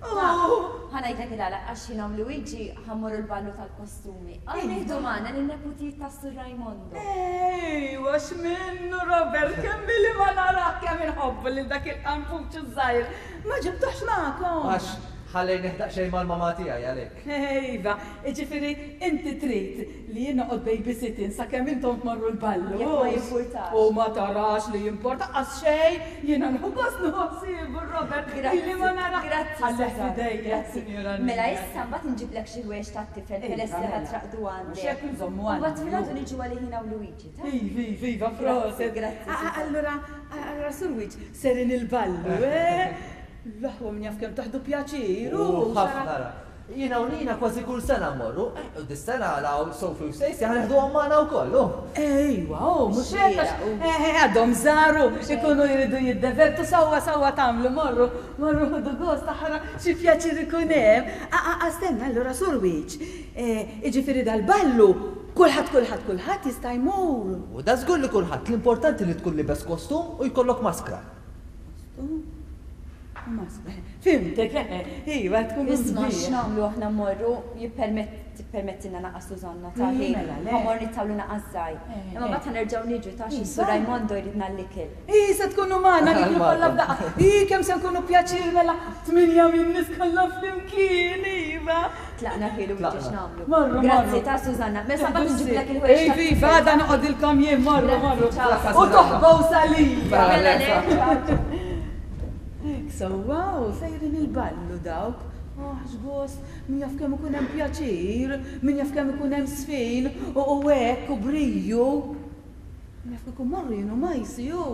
Oh. Ħa ngħidlek il-għala għax jien u Luigi ħammorru l-ballu tal-kostumi. Għal nieħdu magħna lin-neputijiet ta' Sur Raimondo. Ejwa, x'minnu Robert, kemm billi ma narah kemm inħobbu lil dak il-qampuċ iż-żgħir. Ma ġibtux magħkom. Għax Ħallejni daqsxejn mal-mama tiegħi għalhekk. Iva, ġifieri inti trid li jien noqgħod babysitting sakemm intom tmorru l-ballu. Jekk ma jimpurtax. U ma tarax li jimporta qas xejn, jiena nieħu gost nieħu ħsiebu Robert. Grazzi. Ili ma nara. Grazzi, Ħalleh Susanna. f'idejja, Grazzi. Sinjura Mela Nina. issa mbagħad nġiblek xi ħwejjeġ tat-tifel Iva, peress li mela. ħa traqdu għandek. Mhux hekk nżommu U mbagħad għandna. filgħodu niġu għalih jiena u Luigi, ta? Iva, iva, iva, proset. Grazzi, Ah, ah, Susanna. Allura, allura Sur Wiċ, serin il-ballu, eh? L-aħwa min jaf kemm taħdu pjaċir, U u ħafna ra. Jiena u Nina kważi kull sena mmorru, eh, u dis-sena law Sophie u Stacey ħa neħduhom magħna wkoll. oh. Ejwa, oh, mhux hekk għax- Xieraq, u. eh, għadhom żaru, ikunu jridu jiddevertu sewwa sewwa tagħmlu, morru, morru ħudu gost aħra xi pjaċir ikun hemm. Ah, ah, ah, stenna, allura Sur Wiċ, eh, jiġifieri dal-ballu, kulħadd, kulħadd, kulħadd jista' jmur. U da żgur li kulħadd l-importanti li tkun libes kostum u jkollok maskra. Maskra, fhimtek, eh, iva, tkun Isma' sbieħ. x'nagħmlu aħna mmorru jippermettilna naqas Susanna ta' Ii, ħin. mela, le. Ħa mmur nittawlu naqas żgħir. Eh, Imma eh. mbagħad ħa nerġgħu niġu ta' xi Iva. Sur Raimondo jridna l-ikel. Ii, se tkunu magħna niklu kollha f'daqqa. Ii, kemm se nkunu pjaċir mela tminja minn nies kollha flimkien, iva. Tlaqna ħielu Tlaqna. biex nagħmlu. Morru, Grazzi morru. ta' Susanna. Mela mbagħad nġiblek il-ħwejjeġ. Iva, iva, għada noqgħodilkom jien, morru, Grazzi, morru. ciao. U toħbow salija. Mela le, ciao, ciao. So, wow, sejrin il-ballu dawk. Oh, x'gost, min jaf kemm ikun hemm pjaċir, min jaf kemm ikun hemm sfin, u u hekk u briju. Min jaf ikun morru jien u majsi, ju.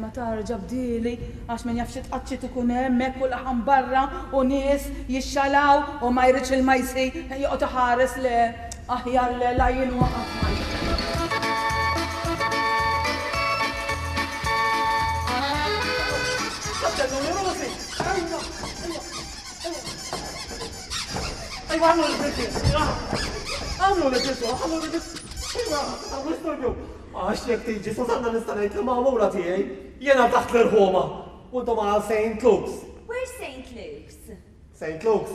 Ma tarġa bdili, għax min jaf xi tqaċċit ikun hemm hekk u laħam barra u nies jixxalaw u ma jridx il-majsi joqgħod iħares le aħjar le la jien waqaf majsi. Ejwa, għamlu l-bidis! Għamlu l-bidis, għamlu l-bidis! Ejwa, għamlu storbju! Għax jekk tiġi, Susanna nista' ngħid li magħmula tiegħi, jiena taħt l-irħoma. U intom għal Saint Luke's. Where's Saint Luke's? Saint Luke's,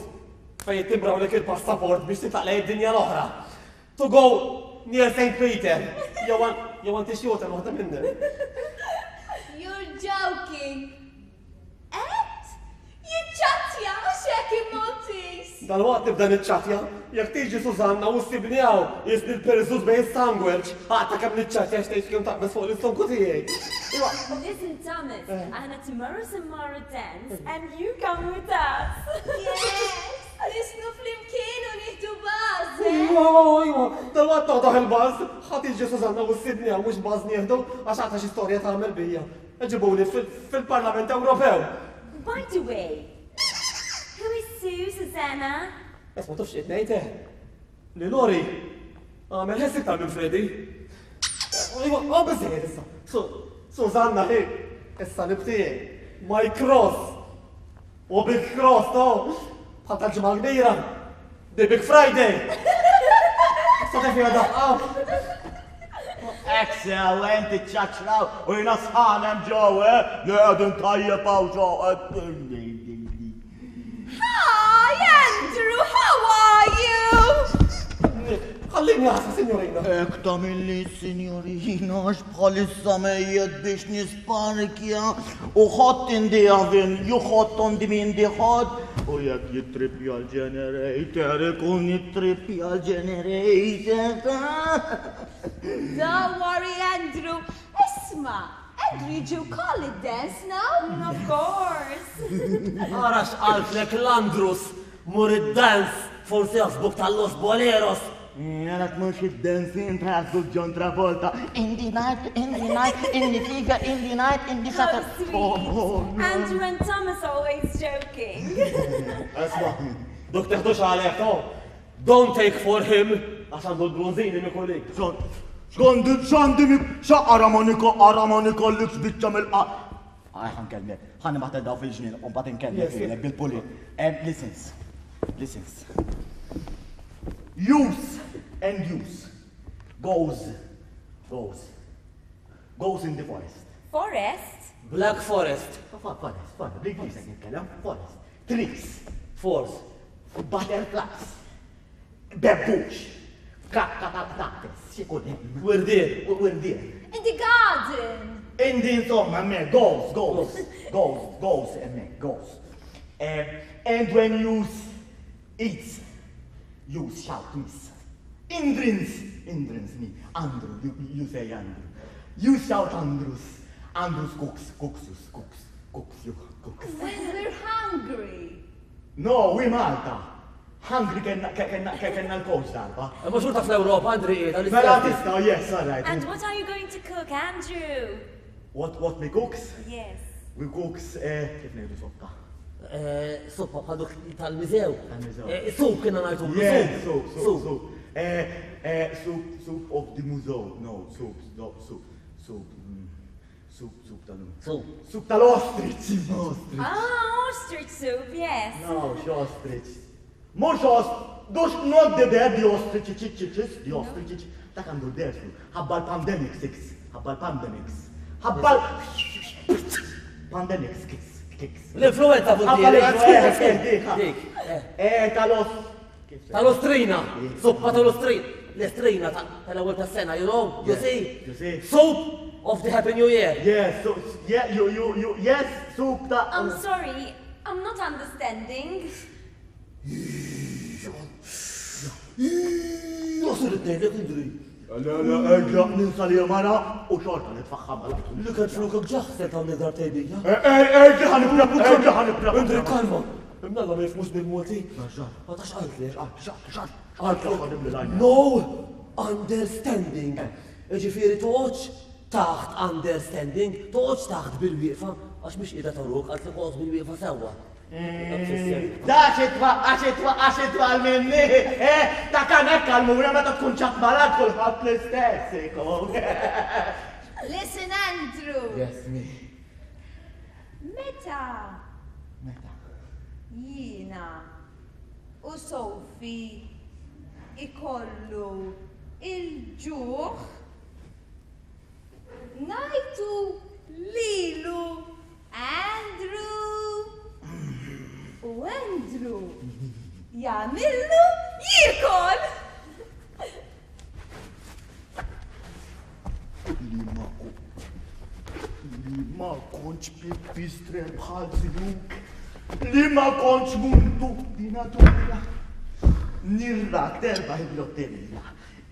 fejn jittimbrawlek il-passaport biex titlaq lejn id-dinja l-oħra. To go near Saint Peter. Jew jew għanti xjuta waħda minnhom. You're joking. Et? Jiċċattja mhux hekk il-Maltese. Dal-waqt nibda niċċatja, jekk tiġi Susanna u ssibni hawn, jisni l-perżut bejn sandwich, aqta kemm niċċatja x'tgħid kemm taqbeż fuq l-istonku tiegħi. Iwa, Listen, Thomas, aħna tomorrow se mmorru dance and you come with us. Yes! Nisnu flimkien u nieħdu buzz, eh? iwa, iwa, dal-waqt noħdoħ il-buzz, ħa tiġi Susanna u ssibni hawn mhux buzz nieħdu għax aqta xi storja tagħmel bija. Ġibuni fil-Parlament Ewropew. By the way, who is Sue, Susanna? Esma tafx qed ngħid eh. Li Lori għamel ħess iktar minn Freddy. Iwa, oh biżejjed issa. Susanna hi, issa nibtiegħi. My cross. U big cross, no? Bħal tal-ġimgħa kbira. The Big Friday. Sa tef daqqa. Excellent, ċaċraw, u jina sħanem ġew, eh? Li għedin tajjeb għaw ġew. Hi, Andrew, how are you? Ħallini għasa, signorina. Ek tamilli, signorina, għax bħalissa mejjet biex nisparkja u hot in the oven, you hot on the in the hot. U jekk jittripja l-generator, ikun jittripja l-generator. Don't worry, Andrew. Isma, Andrew, you call it dance now? Of course. Ara x'qaltlek l-Andrus, mur id-dance, forsi jaħsbuk tal-Los Boleros. Jarak mux id-dancing taħsbu John Travolta. In the night, in the night, in the figure, in the night, in the How Saturday. sweet. Oh, Andrew and Thomas always joking. Esma, dok teħdux għalek, no? Don't take for him, għax għandu l-bronzini mikulik. Xandi, xandi mi, xaqara ma niko, ara ma nikollix biċċa mill-qa. Għaj, ħan kellek, ħan maħta daw fil-ġnien, u mbagħad inkellmek Yes, yes. bil-pulit. Listens, listens. Use and use goes, goes, goes in the forest. Forest? Black Forest. Forest, forest, bl-Ingliż qed nitkellem, forest. Trees, Force. butterflies, bebbux, kakka tal-qtates, x'ikun hemm. Wirdien. Wirdien. In the garden. Indi insomma, hemmhekk, goes, goes, goes, goes, hemmhekk, goes. Um, and when you eat, you shout miss. Indrins, Indrins me, Andrew, you, you say Andrew. You shout Andrews, Andrews cooks, cooks, cooks, cooks, you cooks. When we're hungry. No, we Malta. Hungry kenna kenna kenna l-coach darba. Ma xorta fl-Ewropa, Andri, qiegħda Mela tista', yes, all right. And what are you going to cook, Andrew? What, what we cooks? Yes. We cooks, eh, kif ngħidu soppa? Soppa bħal duk tal-miżew. Tal-miżew. Soup kienna ngħidu. Yes, soup, soup, soup. Eh, eh, soup, soup of the museum. No, soup, no, soup, soup, mm, soup, soup tal Soup. Soup tal-ostrich, ostrich. Ah, ostrich soup, yes. No, ostrich. Mhux ostrich, dux not the dead, the ostrich, ch ch ch the ostrich, dak għandu l-dersu. Ħabba l-pandemic six, ħabba l-pandemics. Ħabba l-pandemics kicks, kicks. L-influenza Ħabba l-influenza, dik. dik. Eh, tal-os. Tal-ostrina. Suppa tal-ostrina. L-ostrina tal-ewwel tas-sena, you know? You see? You see? Soup of the Happy New Year. Yes, so, yeah, you, you, you, yes, soup ta' I'm sorry, I'm not understanding. Jasur id-dejlek, Indri. Le, le, erġa, ninsa li mara u xorta nitfaħħa mala. Li kien flukok ġaħsel ta' nidar tejbija. Erġa, ħanibra, erġa, ħanibra. Indri, kalma. Imnalla ma jifmux bil-Malti. Ma tax qaltli. Qaltli. No understanding. Ġifieri toqgħodx taħt understanding, toqgħodx taħt bil-wieqfa, għax mhix qiegħda taruk, qaltli toqgħod bil-wieqfa sewwa. Da xitwa, għaxitwa, għaxitwa għal-minni, eh, ta' kanek għal-mura meta tkun ċat malad kulħadd l-istess, ikun. Listen, Andrew. Yes, me. Meta Meta? jiena u Sophie ikollu il-ġuħ ngħidu lilu Andrew u Andrew jagħmillu jiekol. Li ma li ma kontx pipistrel bħal zijuk, li ma kontx muntu di natura. Nirrak terba il-lotterija.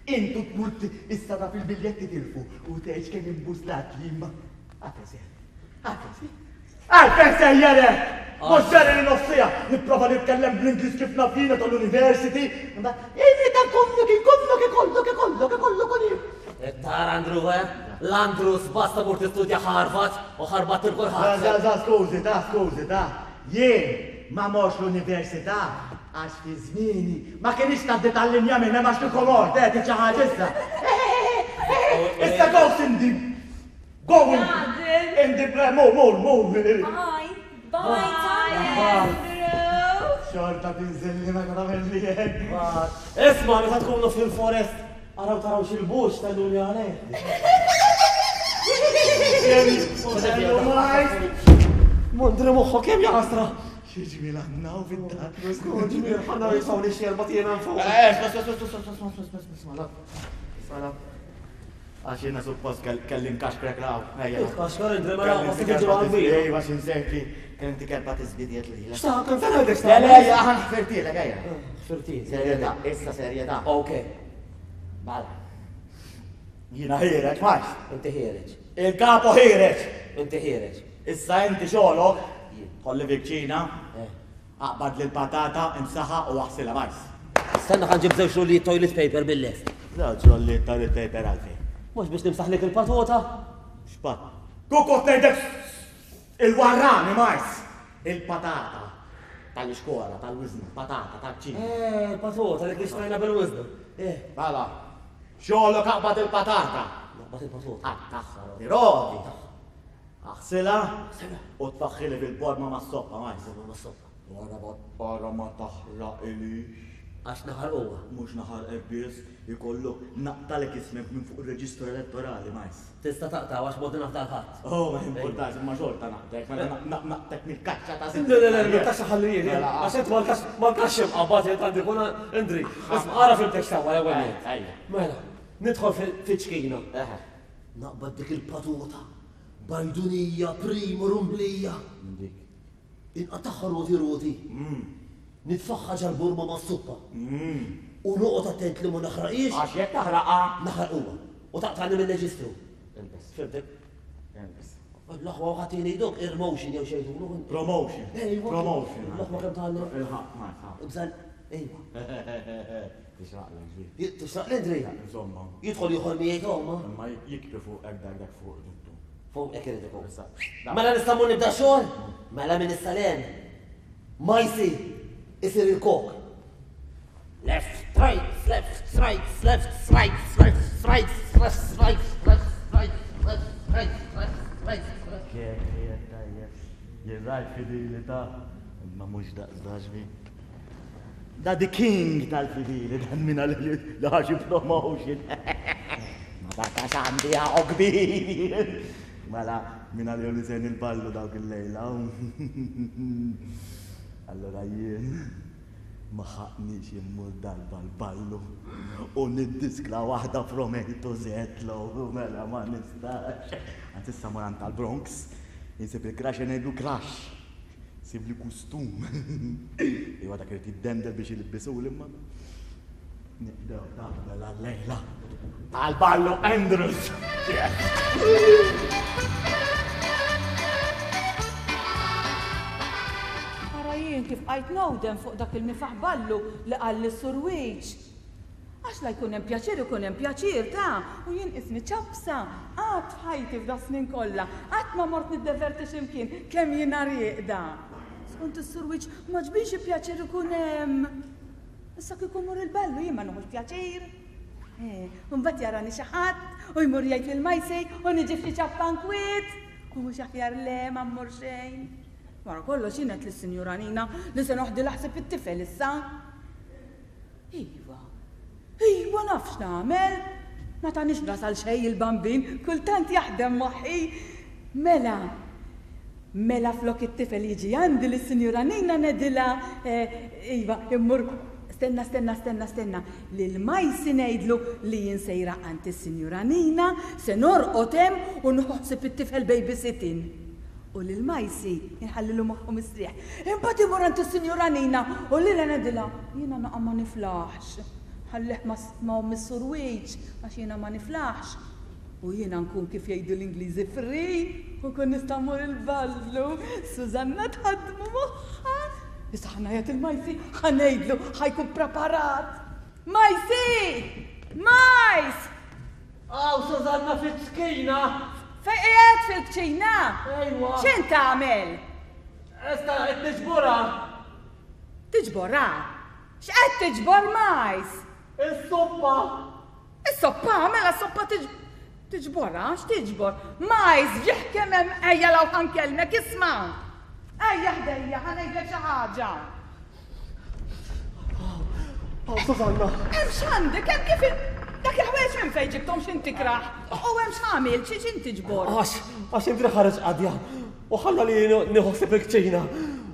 Intu tmur issa taf il-biljetti tilfu u tgħix kemm imbuslat li ma. Għalfejn sejjer. Għalfejn sejjer. Għalfejn sejjer! Mhux ġeri li nofsija, nipprova nitkellem bl-Ingliż kif naf jiena tal-university. Imita kollok, ikollok, ikollok, ikollok, ikollok, ikollok. Tara Andrew, eh? L-Andrews basta mur tistudja Harvard u ħarbat il-kulħadd. Da, da, skużi, da, skużi, da. Jien ma morx l-università għax fi żmieni ma kienx tgħaddi tal-linja minn hemm għax kieku mort, eh, tiġi ħaġa issa. Issa go Cindy. Go in, in the mur, mur, mur. Bye. Bye, Andrew. Xorta tinżilli meta tagħmel li hekk. Isma' meta tkunu fil-forest, araw taraw xil-bux tal-luni għalih. Mondri moħħok kemm jaħasra. Xi ġmiel għandna u fid-dar. Ġmiel, ħanna jisgħu li xi erba' tiegħna fuq. Eh, sma, sma, sma, sma, sma, sma, sma, sma, sma, Għax jiena suppost kelli nkaxkrek law. Kaxkar Indri mela ma se tiġi għal-bir. Ejwa x'insejt li kelli kelba tiżbidiet lilek. X'ta' kemm sena għandek Le, le, ejja, ħan ħfirtilek, ejja. Ħfirtil. Serjetà, issa serjetà. Ok. Mela. Jiena ħiereġ, max. Inti ħiereġ. Il-kapo ħiereġ. Inti ħiereġ. Issa inti xogħlok, ħolli fil-kċina, aqbad lil patata, imsaħa u aħsilha majs. Stenna ħa nġib żewġ rulli toilet paper bil-lest. Żewġ rulli toilet paper għalfejn. Mhux biex nimsaħlek il-patota. X'pat? Kukot ngħidlek il-warrani majs. Il-patata tal-iskola, tal-wiżna, patata tal-ċina. Eh, il-patota dik li xtrajna bil-wiżna. Eh. Mela, xogħlok aqbad il-patata. Aqbad il-patota. Għattaħħa, rodi. Aħsilha u tfaħħili bil-borma mas-soppa majs. Borma mas-soppa. Wara wara ma taħraq ilix. Għax naħarquha. Mhux naħarqek biss, ikollok naqtalek ismek minn fuq ir-reġistru elettorali majs. Tista' taqta' għax bodi nafda l-ħadd. Oh, ma importax, imma xorta naqtek, mela naqtek mill-kaxxa ta' Le, le, le, mill-kaxxa ħalli jien, għax int mal-kaxxa mqabbad jien għandi kun Indri. Isma' ara fimtek sewwa l-ewwel nett. Mela, nidħol fiċ-ċkina. Naqbad dik il-patota, bajdunija, prima rumblija. Inqataħħa roti roti. Nitfaħħa ġal-burma ma' s-suppa. U noqgħod attent li ma naħraqix. Għax jekk taħraqha. Naħraq huwa. U taqtani mill-reġistru. Ilbes. Fimtek? Ilbes. L-aħwa ħatini dok ir-motion jew xejn. Promotion. Promotion. L-aħwa kemm tgħallem. Il-ħaq, ma tħaq. Bżal, ejwa. Tixraq l-Andri. Tixraq l-Andri? Insomma. Jidħol ieħor miegħi omma. Imma jikri fuq hekk dak dak fuq duttu. Fuq hekk irid ikun. Mela nista' mmur nibda xogħol? Mela minn issa l Ma jsir isir il-kok. Left, right, left, right, left, right, left, right, left, right, left, right, left, right, left, right. Kek, qiegħed tajjeb. Jien rajt fidili ta' imma mhux daqs daġbi. Da the king tal-fidili, dan minna li ħaxi promotion. Ma dak għandi għaw kbir. Mela, minna li li sen il-ballu dawk il-lejla. Allora jien ma ħaqnix immur darba l-ballu u niddiskla waħda from A to Z low, mela ma nistax. Għant issa moran tal-Bronx, jinsib il-crash ngħidlu crash. Sib li kustum. Iwa dak irid jiddendel biex jilbisu l-imma. Nibdew mela l-lejla. Tal-ballu Andrews. Ara jien kif qajt nowdem fuq dak il-mifaħ ballu li qal lis-Sur Wiċ. Għax la jkun hemm pjaċir ikun hemm pjaċir ta' u jien ismi ċapsa qatt f'ħajti f'da snin kollha, qatt ma mort niddeverti x'imkien kemm jiena rieqda. Skont is-Sur Wiċ ma ġbinx pjaċir ikun hemm. Issa kieku mur il-ballu jien ma nieħux pjaċir. Eh, u mbagħad jarani xi ħadd u jmur jgħid lil Majsi u niġi f'xi ċappa nkwiet. U mhux aħjar le ma mmur xejn. Wara kollox jien qed lis-Sinjura Nina li se noħdi laħseb it-tifel issa. Iva. Iva naf x'nagħmel. Ma tanix nasal xejn il-bambin, kultant jaħdem moħħi. Mela, mela flok it-tifel jiġi għandi lis-Sinjura Nina nedilha, iva, immur stenna, stenna, stenna, stenna, lil Majsi ngħidlu li jien sejra għand is-Sinjura Nina, se norqod hemm u nħossib it-tifel babysitting. U lil Majsi inħallilu moħħu mistrieħ. Imbagħad imur għand is-Sinjura Nina u lilha ngħidilha, jiena naqa' ma niflaħx. Ħallih ma' Missur Wiċ għax jiena ma niflaħx. U jiena nkun kif jgħidu l-Ingliżi free u nkun nista' mmur il-ballu. Susanna tħaddmu moħħha. Issa ħa ngħajjat il-Majsi, ħa ngħidlu, ħa jkun preparat. Majsi! Majs! Aw, Susanna fil-ċkina! Fejn qiegħed fil-kċina? Ejwa. X'int tagħmel? Esta qed tiġborha. Tiġborha? X'qed tiġbor, Majs? Is-soppa. Is-soppa, mela s-soppa tiġborha, x'tiġbor? Majs, ġieħ kemm hemm ejja law ħankellmek, isma'. Ejja ħdejja, ħa ngħidlek xi ħaġa. Aw, Susanna. Hemm x'għandek, hemm kif dak il-ħwejjeġ minn fejn ġibthom x'int tikraħ. U hemm x'għamil, xi x'int tiġbor? Għax, għax Indri ħareġ qadja u ħalla li nieħu ħsieb il-kċina.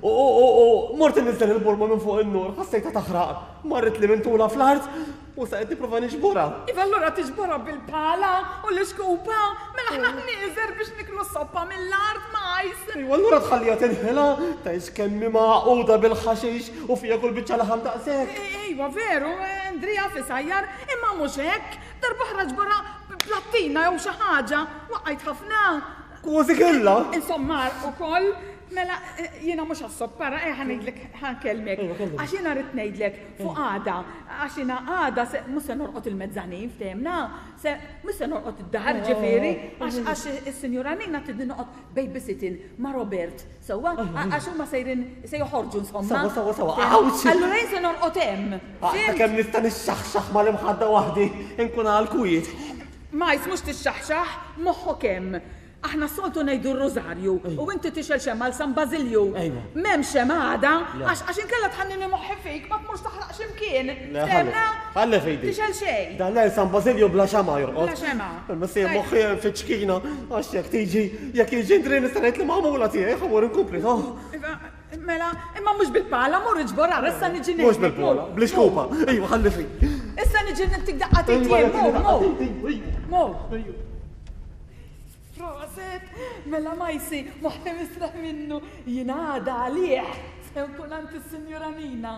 U, u, u, u mort inniżel il-burma minn fuq in-nur, ħassejtha taħraq. Marret li minn tula fl-art u sa qed nipprova niġborha. Iva allura tiġborha bil-pala u l-iskupha, mela aħna ħnieżer biex niklu soppa mill-art Majs. Iva allura tħallija tinħela, tgħix kemm hi magħquda bil-ħaxix u fija kull biċċa laħam daqshekk. Iva veru, Andrea fisajjar, imma mhux hekk, darba ħraġ barra plattina jew xi ħaġa, waqajt ħafna. Kważi kella. Insomma, ukoll, mela jiena mhux għas-soppara, eh, ħa ngħidlek, ħa nkellmek. Għax jiena rrid ngħidlek fuq għada, għax jiena għada se mhux se norqod il-mezzanin ftehimna, se mhux se norqod id-dar ġifieri, għax għax is-Sinjura Nina tidni noqgħod babysitting ma' Robert. Sewwa, għax huma sejrin se joħorġu insomma. Sewwa, sewwa, sewwa. Awċ! Allura jien se norqod hemm. Għadha kemm nista' nixxaħxaħ mal-imħadda waħdi, inkun għal kwiet. Majs, mhux tixxaħxaħ, moħħok hemm. Aħna soltu ngħidu r-rożarju u inti tixel xemma għal San Bażilju. M'hemm xemma għada, għax għax inkella tħannini moħħi fik ma tmurx taħraq x'imkien. Le, ħalli fejdi. Tixel xejn. Dan le San Bażilju bla xema jorqod. Bla xema. Imma se moħħi hemm fiċ-ċkina, għax jekk tiġi, jekk jiġi Indri nista' ngħid li magħmula tiegħi ħa mmur inkompli, toh. Iva, mela, imma mhux bil-pala, mur iġbor għar, issa niġi Mhux bil-pala, bl-iskupha. Ejwa, ħalli fik. Issa niġi nittik daqqa titi, mur, mur. Mur. Proset, mela Majsi, moħħi misraħ minnu, jingħada għalih, se nkun għand is-Sinjura Nina.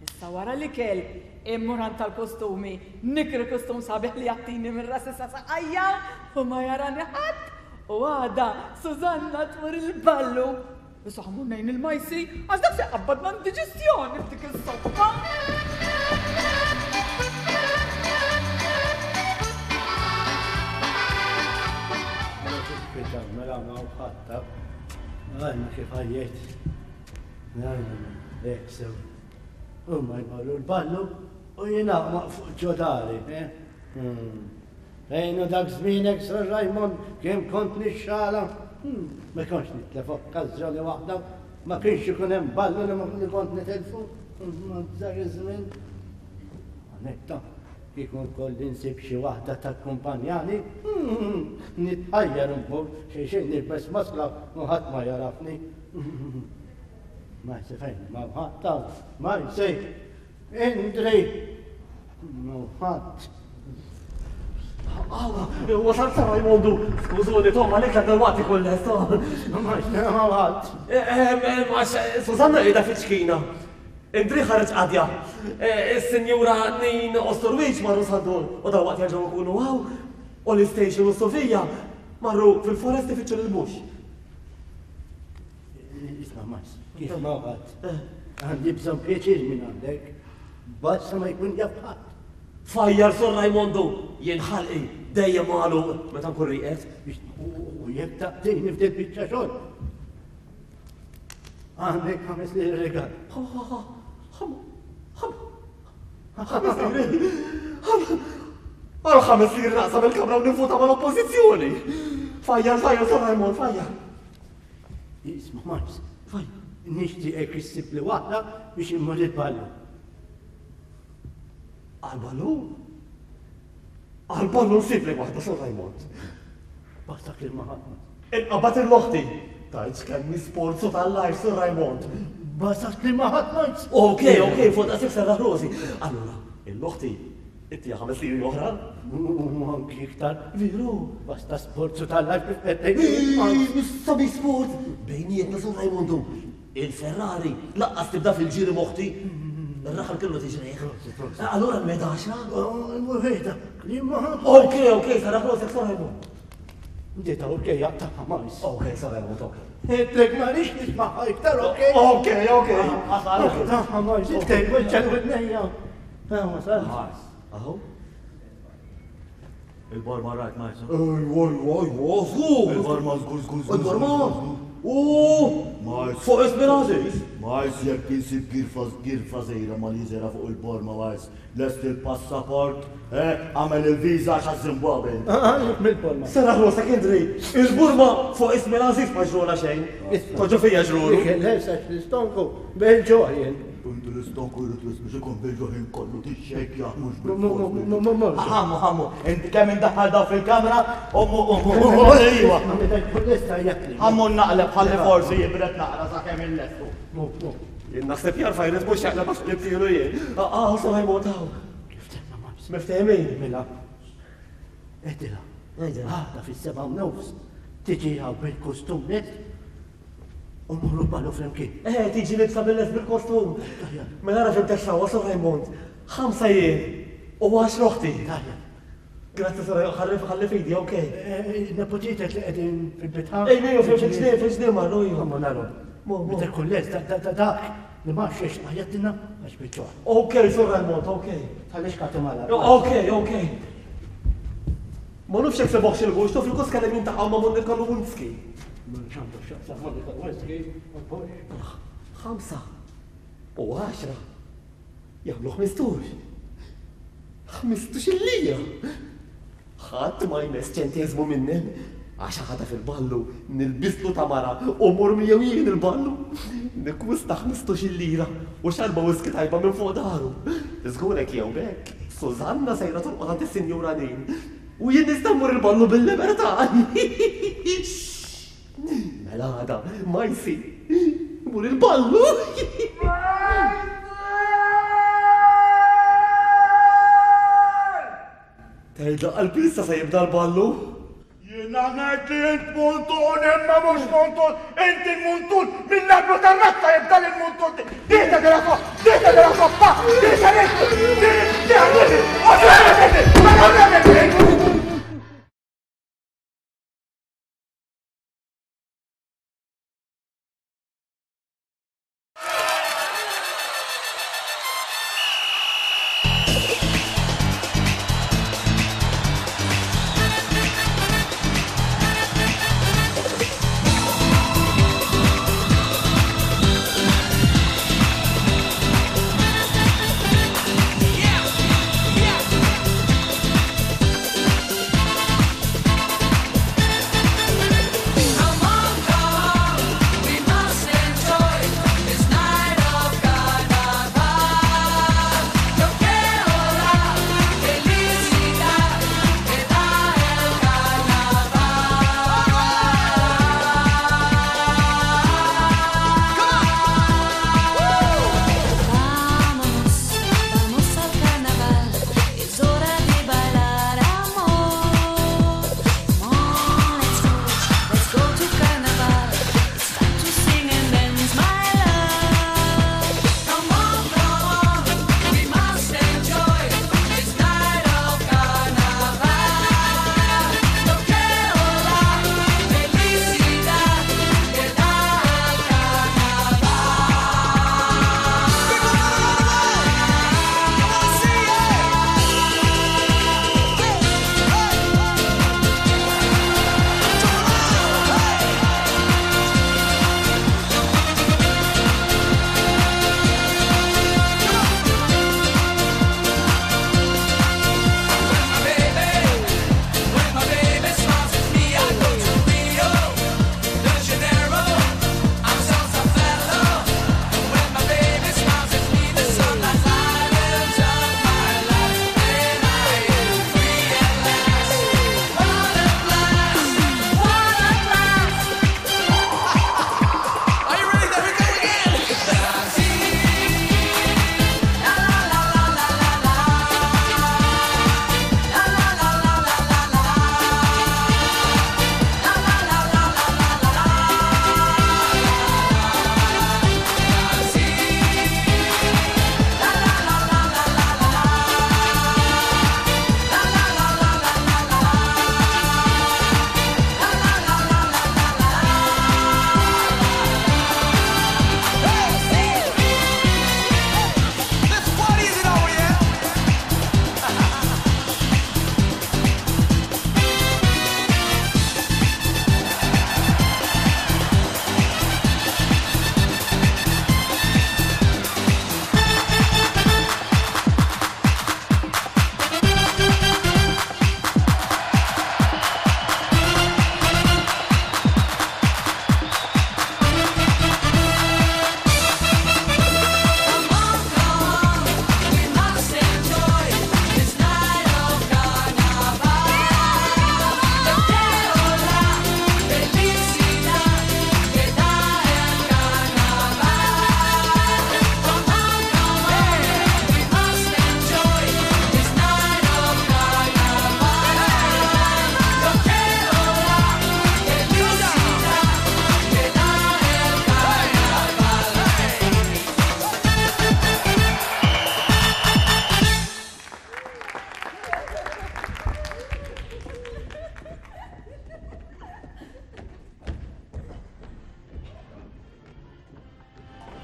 Issa wara l-ikel, immur għand tal-kostumi, nikri kostum sabiħ li jattini minn rasi sa saqajja u ma jarani ħadd. U għada, Susanna tmur il-ballu. Issa ħa mmur ngħin il-Majsi, għax dak se jqabbadna indiġestjoni f'dik is-soppa. Mela ma ħadd. Għajna kif ħajjet. Għajna, hekk sew. Huma jmorru l-ballu u jiena fuq ġodari. Fejnu dak żmienek, Sir Raymond, kemm kont nixxala. Ma kontx nitlef okkażjoni waħda, ma kienx ikun hemm ballu li kont nitilfu. Dak iż-żmien. Anetta, kieku nkolli nsib xi waħda takkumpanjani, nitħajjar immur xi xejn nilbes maskla u ħadd ma jarafni. Majsi fejn, ma ħadd hawn, Majsi, Indri, ma ħadd. Awa, wasal Sir Raimondu, skużuni, Tom, għalek la dal-waqt ikun lest. Majsi, ma ħadd. Għax Susanna qiegħda fiċ-ċkina. Indri ħareġ qadja. Is-Sinjura Nin Ostorwiċ marru Sandor u dal-waqt jerġgħu jkunu hawn, u l-Station u Sofija marru fil-forest ifittxu lil-mux. Isma' Majs, kif ma ħadd. Għandi bżonn pjaċir minn għandek, basta ma jkun jaf ħadd. Fajjar Sir Raimondu, jien ħalqi dejjem magħluq meta nkun rieqed. U jekk taqtini f'dil biċċa xogħol. Għandek ħames liri rigal. Ħames liri. Għal ħames liri naqsam il-kamra u nivvota mal-oppożizzjoni. Fajjar, fajjar, Sir Raymond, fajjar. Isma' Majs, nixtieqek issib li waħda biex immur il-ballu. Għal-ballu? Għal-ballu nsib li waħda, Sir Raymond. Basta klima ħadd. Inqabad il-loħti. Tajt kemm sforzu tal-life, Sir Raymond. Basta klima ħadd, Majs. Ok, ok, fuq daqshekk serraħ rosi. Allura, il-loħti, ittija ħames liri oħra? U anki iktar. Veru? Basta sforzu tal-life kif qed tgħid. Issa bi sport. Bejnietna, Sir Raimondu. Il-Ferrari laqqas tibda fil-ġiri moħti. Ir-raħal kellu tiġrejh. Allura n-medaxa? Wejda, klima ħadd. Ok, ok, serraħ rosek, Sir Raymond. Dita ok, jaqtaħ Majs. Ok, Sir Raymond, ok. Intlek ma rix nismaħħa iktar, ok? Ok, ok. Jaqtaħ Majs, intlek weġġa l-widnejja. Wasal. Majs. Aho? Il-borma rajt, Majs. Ejwa, ejwa, ejwa, żgur. Il-borma żgur, żgur, żgur. Il-borma? U Majs. Fuq ismi l-Aziz. Majs, jekk insib girfa girfa żgħira ma li żera fuq il-borma, Majs. Lest il-passaport, eh, għamel il-viża għax Zimbabwe. Għalik mill-borma. Serraħ rosek, Indri. Il-burma fuq ismi l-Aziz ma ġrula xejn. Toġu fija ġrulu. Lesa l-istonku, bil-ġuħ jien. Inti l-istonku jrid biex ikun bil-ġuħ kollu tixxejkja mhux bil-forz. Ħammu, ħammu, inti kemm indaħħal daw fil-kamra, ummu, ummu, ejwa. Ħammu naqleb ħalli forsi jibret naqra sakemm illestu. Jien naħseb jarfa jrid mhux jaqleb għax qlibtilu jien. Ah, Sir Raymond hawn. Kif temma Majs? Miftehmin? Mela. Edila. Għidilha. Għada fis-seba' u nofs tiġi hawn bil-kostum lest u mmorru ballu flimkien. Eh, tiġi libsa bil-lest bil-kostum. Mela ara fim sewwa, Sir Raymond. Ħamsa jien u għaxra oħti. Tajjeb. Grazzi, Sir Raymond, ħalli ħalli fidi, ok. Nepotitek li qegħdin fil-bitħa. Ej, ej, fil-ġnien, fil-ġnien marru, ejju. Ħammu naru. Mo, mo. Meta jkun lest, da- da- dak li ma xiex għajjatilna għax bil-ġuħ. Ok, Sir Raymond, ok. Tħallix kati mala. Ok, ok. Ma nafx jekk seboħx il-gux, taf il-kos kellem jintaqgħu ma' Monika Lewinsky. Ma nxandu x'jaqsam Monika Lewinsky, ma nafx. Ħamsa u għaxra jagħmlu ħmistux. Ħmistux il-lira. Ħadd ma jmess ċenteżmu minni. Għax għada fil-ballu nilbislu ta' mara u mur miegħu jien il-ballu. Nikwista ħmistux il-lira u xarba whisky tajba minn fuq daru. Żgurek jew bekk, Susanna sejra torqod għand is-Sinjura Nin. U jien nista' mmur il-ballu bil-libertà. Mela għada, Majsi, mur il-ballu. Tgħidla qalbi issa se jibda l-ballu. Jien Jiena ngħid li int muntun imma mhux muntun, inti l-muntun mill-arblu tar-razza jibda l-muntun. Dieta della soppa, dieta della soppa, dieta dieta dieta.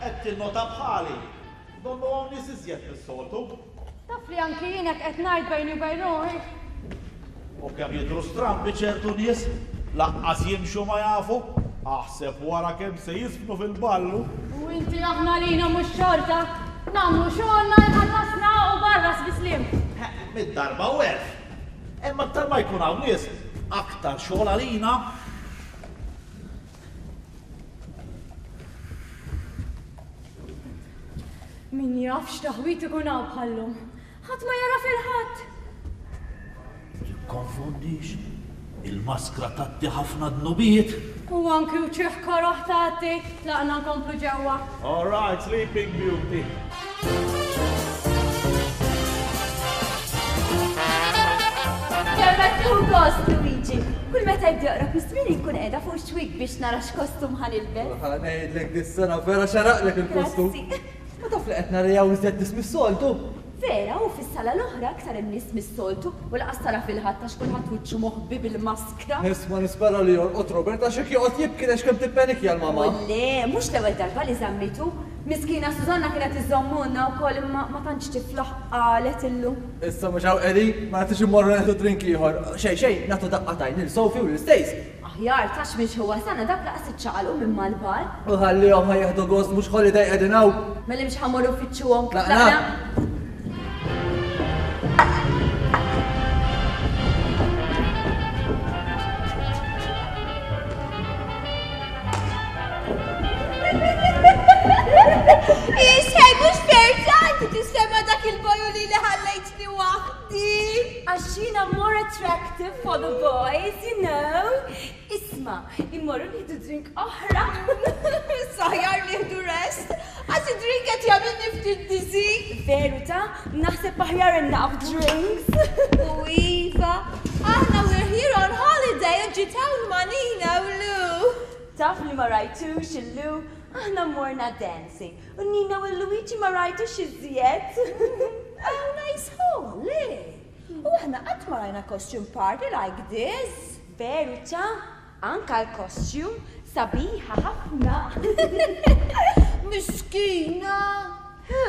Qed tinnota bħali. Donnu hawn nies iżjed mis-soltu. Taf li anki jien hekk qed ngħid bejni u bejn ruħi. U kemm jidhru strambi ċertu nies, laqqas jimxu ma jafu, aħseb wara kemm se jiżfnu fil-ballu. U inti aħna lina mhux xorta, nagħmlu xogħolna jħallasna u barra sbisliem. Mid-darba u elf. Imma aktar ma jkun hawn nies, aktar xogħol għalina. Min jaf x'taħwit ikun hawn bħallum. Ħadd ma jara fil-ħadd. Tikkonfondix, il-maskra tgħatti ħafna dnubiet. U anki wċieħ koroħ tgħatti, tlaqna nkomplu ġewwa. All right, Sleeping Beauty. Kemm qed tieħu gost, Luigi. Kull meta jibda joqrob iż-żmien inkun qiegħda fuq xwik biex nara x'kostum ħa nilbes. Ħa ngħidlek dis-sena vera xaraqlek il-kostum. Ma taf li qed naraw iżjed nies mis-soltu. Vera, u fis-sala l-oħra aktar hemm nies mis-soltu u laqas tara fil-ħadd għax kulħadd wiċċu moħbi bil-maskra. Isma' nispera li jorqod Robert għax jekk joqgħod jibki għax kemm tippenikja l-mama. U le, mhux l-ewwel darba li żammitu. Miskina Susanna kienet iżommuna wkoll imma ma tantx tiflaħ qalet illum. Issa mhux hawn qegħdin, ma nagħtix immorru nieħdu drink ieħor. Xejn xejn, nagħtu daqqa t'għajn lil Sophie u lil Stace. Aħjar tax minn xi wasalna dak laqas iċċaqalqu minn mal-bar. U ħallihom ħa jieħdu gost mhux holiday qegħdin hawn. Mela mhux ħa mmorru nfittxuhom. Tlaqna. Ixħej, mux fertanti tissema dak il-boju li li ħallejtni waħdi. Għax jiena more attractive for the boys, you know. Isma, immorru nieħdu drink oħra. Saħjar nieħdu rest. Għax id-drink qed jagħmilni ftit dizzy. Veru ta' naħseb aħjar enough drinks. U iva, aħna we're here on holiday u ġiet hawn ma' Nina u Lou. Taf li ma rajtux il-Lou, aħna morna dancing. U Nina u Luigi ma rajtux iżjed. Oh, nice hall, eh? U aħna qatt ma rajna costume party like this. Veru ta' anka l-costume sabiħa ħafna. Miskina. Who?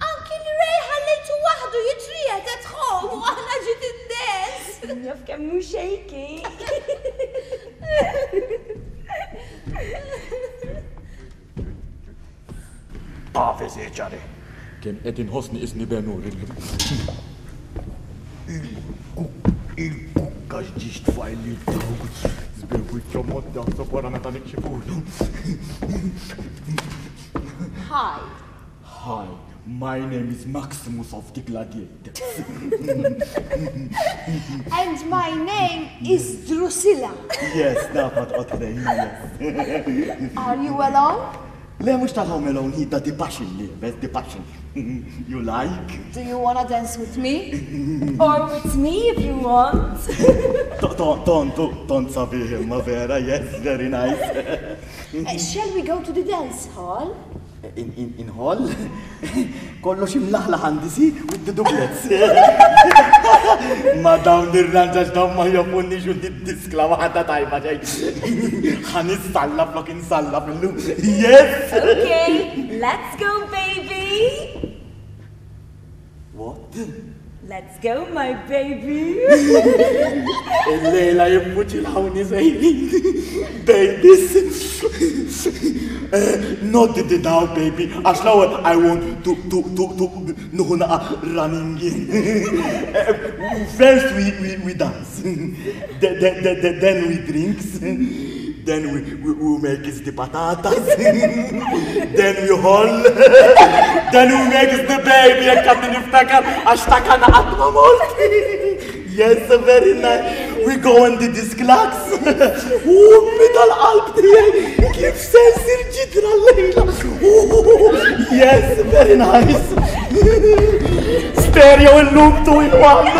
Anki l-Ray ħallejtu waħdu jitrijet at home u aħna ġiet id-dance. Naf kemm hu shaky. Ave Cesare. Kemm qed inħossni isni Benur illum. Il-kukka x'ġiex tfajli dawk. Żbir wiċċhom mod jaħseb wara meta nikxifulu. Hi. Hi, my name is Maximus of the Gladiators. And my name is Drusilla. Yes, naf toqgħod ħdejna, yes. Are you alone? Le, mhux tal-Home Alone, hi ta' The Passion li, best The Passion. You like? Do you wanna dance with me? Or with me if you want. Ton, ton, ton sabiħ imma vera, yes, very nice. Uh, shall we go to the dance hall? In, in, in hall? Kollox imlaħlaħ għandi si with the doublets. Ma dawn ir-ranġax dawn ma jopunni xu diskla waħda tajba ġej. Ħa nissalla flok insalla fil-lum. Yes! Okay, let's go, baby! What? Let's go, my baby! Il-lejla jibbuċilawni sejrin. Babies! Not the now, baby. Għax l-ewwel I want to, to, to, to, nuħu naqa running in. First we, we, we dance. Then, then, then, then we drinks. Then we, we, we make the patatas. Then we haul. Then we make the baby. Jekk għadni niftakar għax takana qatt ma mort. Yes, very nice. We go on the disclax. Ummi tal-qalb tiegħi kif se nsir ġidra l-lejla. Yes, very nice. Stereo illum two in one.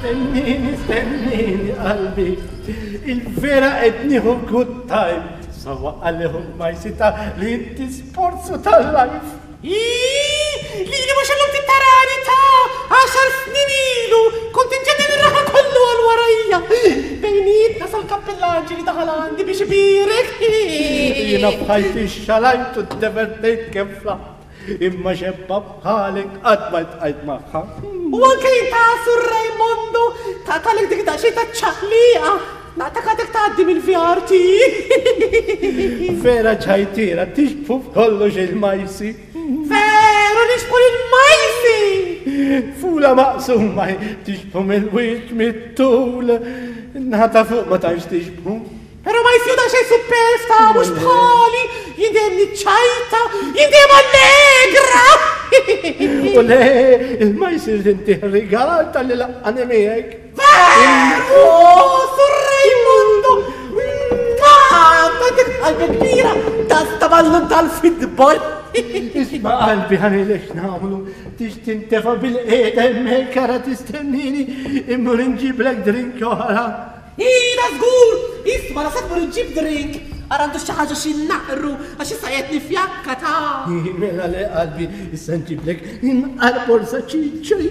Stennini, stennini, qalbi. Il-vera qed nieħu good time. Sawa għalihom ma jsita li inti sporzu tal-life. Iiii, li li mux għallum tittarani ta' għaxar snin ilu, kont inġennen ir-raħa kollu għal warajja. Bejnietna sal-kappellaġi li daħal għandi biex ibirek. Jiena bħajti xalajt u d-divertejt kemm flaħt. Imma xebba bħalek qatt ma tqajt magħha. U anke ta' Sur Raimondo, ta' talek dik daqsxejn ta' ċaqliqa. Naqtak għadek tgħaddi mill-V R T. Vera ċajtira, tixbhu f'kollox il-majsi. Veru nixbhu il-majsi! Fula maqsuma, tixbhu mill-wiċċ mit-tul. Nħata fuq ma tantx tixbhu. Pero ma jisju da xejn supersta, mhux bħali, jien dejjem niċċajta, jien dejjem allegra. U le, il-majsi inti rigal tal-li laqqani miegħek. Veru, Sur Raimondo! Ma, għandek qalbi kbira, ta' ballun tal-futbol. Isma' qalbi ħanilek nagħmlu, tix tintefa' bil-qiegħda hemmhekk ara tistennini, immur inġiblek drink oħra. Ila żgur! Isma' la se tmur iġġib drink, ara għandu xi ħaġa xi naqru għax issa qed nifjakka ta'. Mela le qalbi, issa nġiblek imqar borsa ċiċri.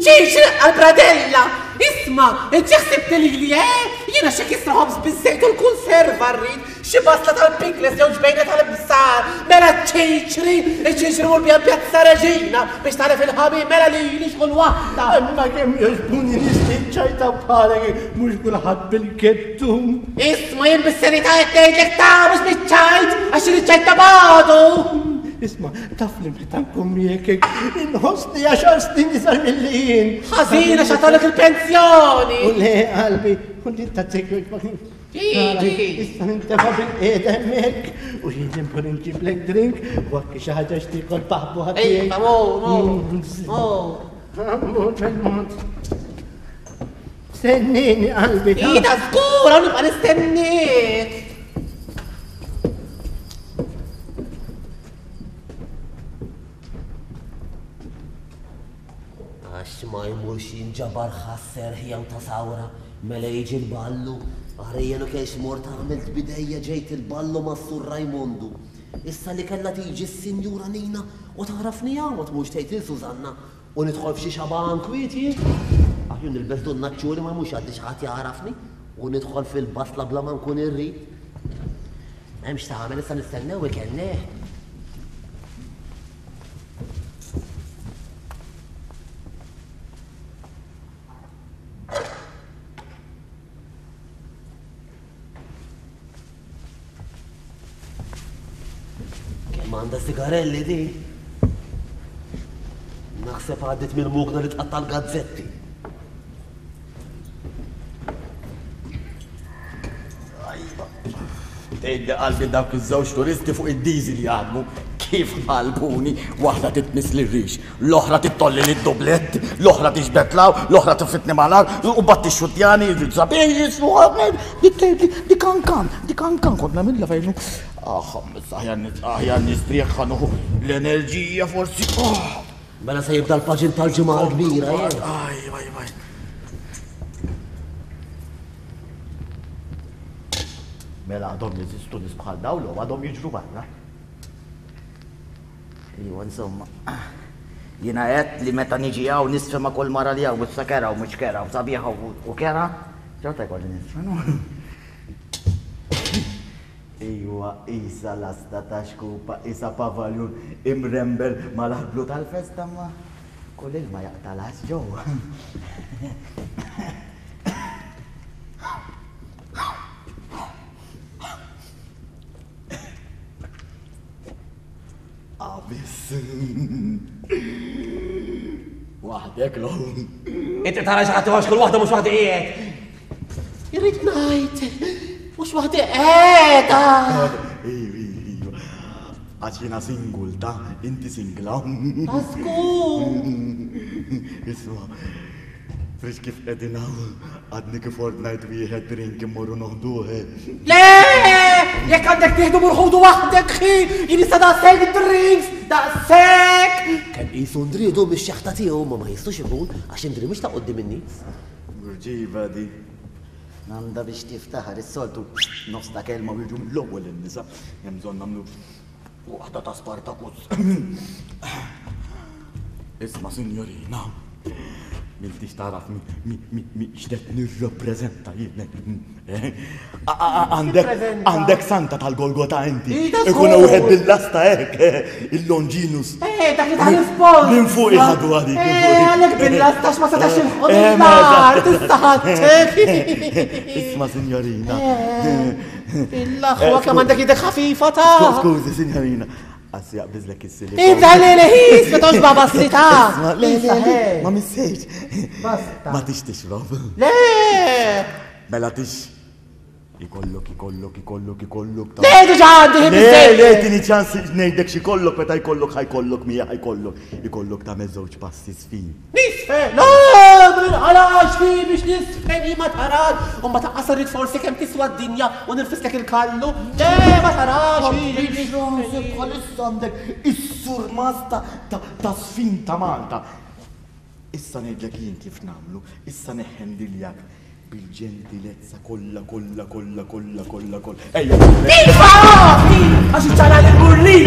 Ċiċri għal-bradella! Isma', inti ħsibt lili, eh? Jiena xi kisra ħobż biż-żejt u l-kunserva rrid, xi basla tal-pickles jew ġbejna tal-bsar, mela ċiċri, iċ-ċiċri mur biha Pjazza Reġina biex tagħref il-ħabib, mela lili xkull waħda. Imma kemm jogħġbuni nies li ċajta bħalek, mhux kulħadd bil-kettum. Isma' jien bis-serjetà qed ngħidlek ta' mhux biċ-ċajt, għax iċ-ċajt ta' bagħdu. Isma', taf li meta nkun miegħek inħossni għaxar snin iżgħar milli jien. Ħażina x'għatalek il-pensjoni. U le qalbi, u li tagħtik Issa nintefa' bil-qiegħda hemmhekk u jien immur inġiblek drink u anki xi ħaġa x'tiekol paħbu Ejja, mur, mur, mur. Mur bil-mod. Stennini qalbi. Ida żgur, hawn nibqa' nistennik. Għax ma jmurx jinġabar ħasser jew ta' sawra, mela jiġi l-ballu. Għarejjenu kienx mort għamilt bidejja ġejt il-ballu ma' Sur Rajmondu. Issa li kellha tiġi s-Sinjura Nina u tagħrafni hawn ma tmurx tgħid lil Susanna u nidħol f'xi xaban kwieti. Aħju nilbes dun naċċuri ma jmurx għaddi xi ħadd jagħrafni u nidħol fil-basla bla ma nkun irrid. M'hemmx tagħmel issa nistennew ikelleh. Kemm għandha sigarelli di? Naħseb għaddit mill-mugna li tqatta' l-gazzetti. Ajba. Tgħidli qalbi dawk iż-żewġ turisti fuq id-diesel jaħdmu kif qalbuni, waħda titmiss lir-rix, l-oħra tittolli lid-dublett, l-oħra tixbet law, l-oħra tifitni mal-art, u bat tixxuttjani, sabiħ jislu, dik tgħidli, dik kankan, dik kankan, kont nagħmilha fejn. Ah, aħjar nistrieħ ħanuħu l-enerġija forsi. Mela se jibda l-paġin tal-ġimgħa l-kbira, jien. Aj, aj, aj. Mela għadhom jeżistu nies bħal dawn u għadhom jiġru barra. Iwa, insomma, jiena għedt li meta niġi hawn nisfe ma' kull mara li hawn, issa kera u mhux kera, u sabiħa u kera, ċerta jkolli nisfe, no? Iwa, isa lasta ta' xkupa, isa pavaljun imrembel mal-arblu tal-festa, ma kull ilma jaqta' las ġewwa. Abiss. Waħdek l. Inti tara xi ħadd għax kull waħda mhux waħda qiegħed. Irrid ngħid, mhux waħda qiegħda. Iju, iju. Għax jiena single ta' inti singla. Żgur. Isma', frix kif qegħdin hawn, għadni kif ordnajt wieħed drink immorru noħduh. Le! Jekk għandek tieħdu mur ħudu waħdek, ħi! Jien issa daqshekk drinks, daqshekk! Kemm qisu ndridu mix-xeħta tiegħu ma ma jistux ikun għax indri mhux ta' quddiem in-nies. Murġiva di. Għandha biex tiftaħar is-soltu nofs ta' kelma u jiġu mill-ewwel in-nisa. Hemm bżonn nagħmlu waħda ta' Spartacus. Isma' signorina, m'intix tagħraf mi mi mi x'qed nirrappreżenta jien. Għandek għandek santa tal-Golgota inti. Ikun wieħed bil-lasta hekk, il-Longinus. Eh, dak li tal-ispons. Minn fuq iħadu għadik. Eh, għalhekk bil-lasta x'ma setax ilħu nar, tista' ħadtek. Isma' signorina. Il-aħwa kemm għandek idek ħafifa ta' Skużi, signorina. Għassi jaqbiżlek is-silikon. Ibda le le ħis, ma tgħodx baba s-sita. Isma' le le le, ma missejx. Basta. Ma tix tixrob. Le! Mela tix. Ikollok, ikollok, ikollok, ikollok. Le, diġà għandi ħin Le, biżżejjed. le, tini ċans ngħidlek x'ikollok, meta jkollok ħajkollok, mija ħajkollok. Ikollok tagħmel żewġ passi sfin. Nisfen! Le, ma ninqalax fi biex nisfen, hi ma tarax. U ma taqqas rrid forsi kemm tiswa d-dinja u nirfislek il-kallu. Le, ma tarax hi. X'taħseb bħalissa għandek is-surmas ta' sfin ta' Malta. Issa ngħidlek jien kif nagħmlu, issa neħendiljak bil-ġentilezza kollha kollha kollha kollha kollha kollha. Ejja! Iva! Għax iċċara l-burlin!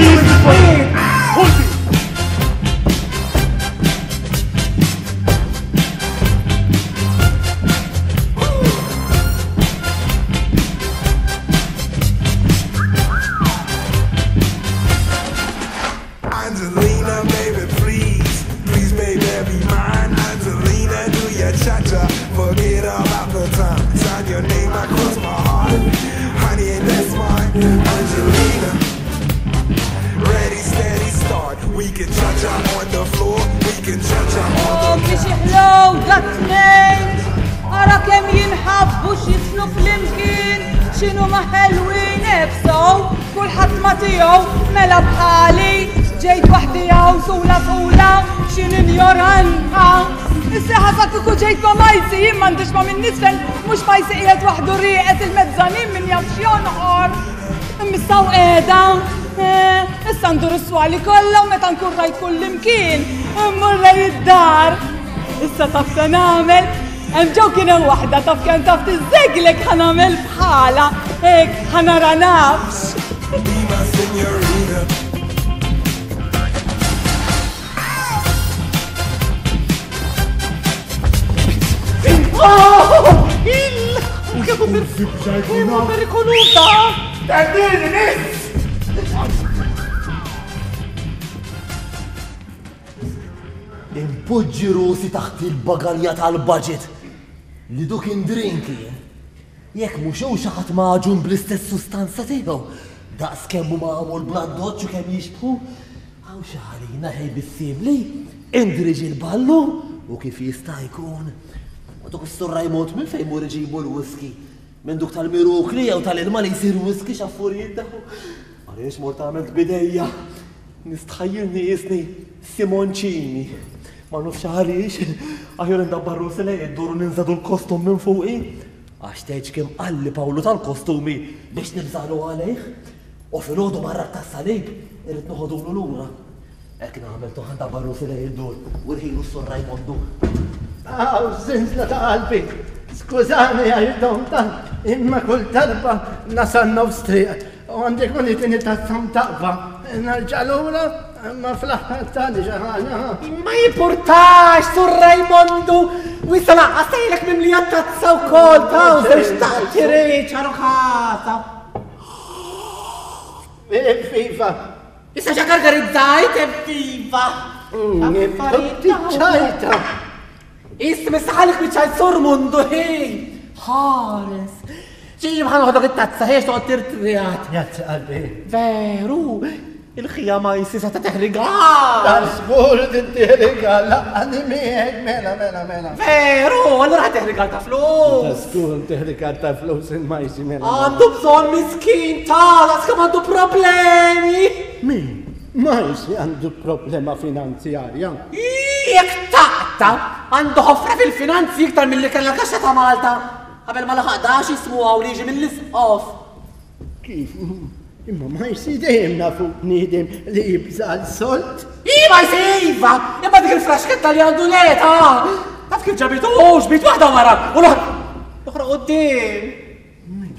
Angelina, baby, please, please, baby, be mine. Angelina, do your cha-cha, forget about the time. Sign your name across my heart, honey, and that's mine. Angelina, ready, steady, start. We can cha-cha on the floor, we can cha-cha on the Biex iħlow dat-tnejn, ara kemm jinħabbu x'jisnu flimkien, x'inhu ma ħelwin nefsow, kulħadd ma tiegħu mela bħali, ġejt waħdi hawn sula fula, x'in injoranta. Issa ħasab kieku ġejt ma' Majsi, jien m'għandix ma' min nisfen, mhux Majsi qiegħed waħdu rieqed il-mezzanin min jaf x'jonqor. Imma qiegħda, issa ndur is-swali kollha u meta nkun rajt kull imkien, immur lejn id-dar. Issa taf se nagħmel, hemm ġew kien hemm waħda taf kemm taf tiżżeglek ħa nagħmel bħala, hekk ħa nara nafx. Be my señorita. Oh! Il! Kemm perikoluta! Tendini, nis! Impoġġi rusi taħt il-bagalja tal-budget li duk indrinki. Jekk mhux hu xi ħadd maġun bl-istess sustanza tiegħu, daqs kemm hu magħmul bl-addoċċ u kemm jixbħu, hawn xi ħalina ħej bissibli, indriġi l-ballu u kif jista' jkun. U duk is-Sur Raymond minn fejn mur iġibu l-whisky? Minn duk tal-mirukli jew tal-ilma li jsir whisky x'affarijiet daw. Għaliex mort għamilt bidejja. Nistħajjilni jisni Simoncini. Ma nafx għaliex, aħjar indabbar rusi lej id-dur u ninżadu l-kostum minn fuqi. Għax tgħidx kemm qalli Pawlu tal-kostumi biex nibżalu għalih. U filgħodu marra tas-salib irrid noħodulu lura. Hekk nagħmel toħan dabbar rusi lej id-dur u rħilu s-Sur Rajmondu. Aw, zinzla ta' qalbi. Skużani għax tant, imma kull darba nasal nofs triq. U għandek kun itini tazza mtaqba. Nerġa' lura, ma fl-aħħar tani xi ħaġa. Ma jimpurtax, Sur Rajmondu! U issa lanqas tgħidlek mimlija tazza wkoll, tawser x'tant irid ċarukata. Evviva! Issa xa gargarizzajt, evviva! Ċajta! Isma saħalek biċċajt Sur Mundu, hej! Ħares! Ġiġi bħal noħodok it-tazza, ħiex toqgħod tirtrijat. Grazzi qalbi. Veru, il-ħija ma jsisa ta' teħrigal. Tal-żgur tinteħrigal, laqqani miegħek, mela, mela, mela. Veru, allura ħa teħrigal ta' flus. Tal-żgur teħrigal ta' flus il-majsi, mela. Għandu bżonn miskin ta' daqs kemm għandu problemi. Min? Majsi għandu problema finanzjarja. Jekk taqta, għandu ħofra fil-finanzi iktar milli kellha l-kaxxa ta' Malta. Qabel ma laħaq dax jismu hawn li jiġi mill-isqof. Kif? Imma Majsi dejjem nafu bniedem li jibża' l-solt. Iva Majsi, iva! Imma dik il-fraxketta li għandu leta! Taf kif ġabitu, ġbit waħda wara u l-oħra quddiem.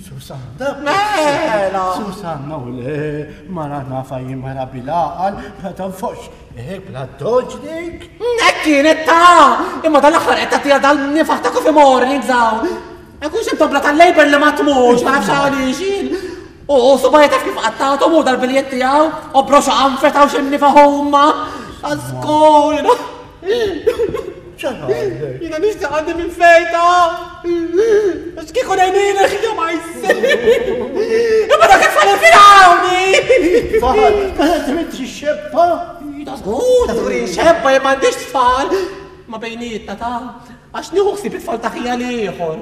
Susanna. Mela! Susanna u le, mara nafa jien mara bil-għaqal, ma tanfox, eh, bla doġ dik. Hekk kienet ta' imma dal-aħħar qed tagħtiha dal-nifaħ ta' Coffee Mornings hawn. Ma jkunx hemm tobla tal-Labor li ma tmurx, ma nafx għaliex jien. U subajja taf kif qattathom u dal-biljett tiegħu, u broxa qanfet hawn xi nifaħ huma. Għażgur, jiena nixtieq għandi minn fejta. Għax kieku ngħinina ħija ma jsir. Imma dak it-tfal infirawni. Tfal, ma tmitx xebba. Ta' żgur, ta' żgur xebba jien m'għandix tfal. Ma bejnietna ta' għax nieħu ħsieb it-tfal ta' ħija l-ieħor.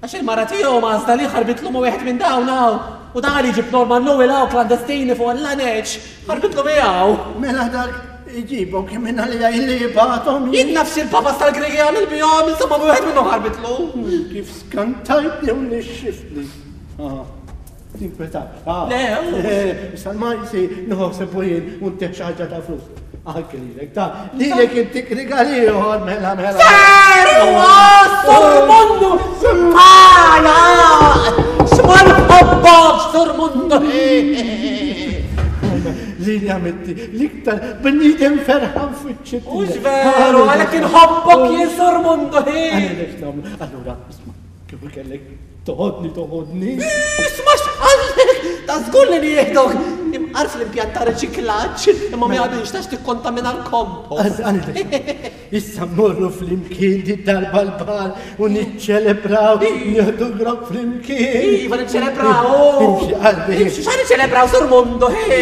Għax il-mara tiegħu ma għażla li ħarbitlu ma' wieħed minn dawn hawn. U dan li ġib Norman Lowell hawn klandestini fuq l-laneċ. Ħarbitlu miegħu. Mela dak iġibhom kemm minn għalija illi jibgħathom. Jien nafx il-papas tal-Gregi għamil bihom, insomma wieħed minnhom ħarbitlu. Kif skantajtni u nixxiftni. Tinkweta. Le, Sal-majsi nħosseb u jien u ntih xi ħaġa ta' flus. Anke lilek, ta' lilek intik rigal ieħor mela mela. Seru, Sur Mundu! Maja! X'ma nħobbok, Sur Mundu! Lili għamitti l-iktar bniedem ferħan fiċ-ċittija. Mhux veru, għalhekk inħobbok jien Sur Mundu! Għalhekk nagħmlu. Allura, isma' kif kellek toħodni toħodni. Isma' x'qallek! Ta' żgur li nieħdok! Imqar fl-impjant ta' riċiklaġġ, imma ma jaqbilx tax tikkontamina l-kompost. Issa mmorru flimkien di darba l-bar u niċċelebraw, nieħdu grok flimkien. Iva niċċelebraw! Imxi qalbi. Imxi xa niċċelebraw Sur Mundu, hi!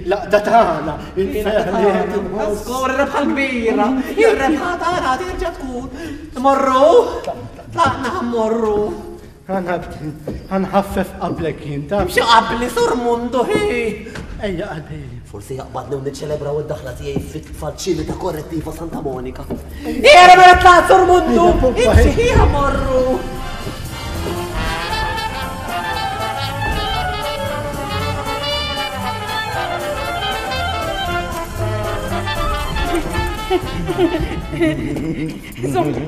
L-għaqda tagħna, il-ferħ li qed inħoss. Żgur ir-rebħa l-kbira, ir-rebħa tagħna terġa' tkun. Morru? Tlaqna ħammorru. Ħanħaffef qablek jien ta' Imxi qabli Sur Mundu, hi! Ejja qalbi. Forsi jaqbadni u niċċelebraw id-daħla tiegħi fit-faċilità ta' korrettiva Santa Monica. Ejja mela tlaqt Sur Mundu! Imxi ħija morru!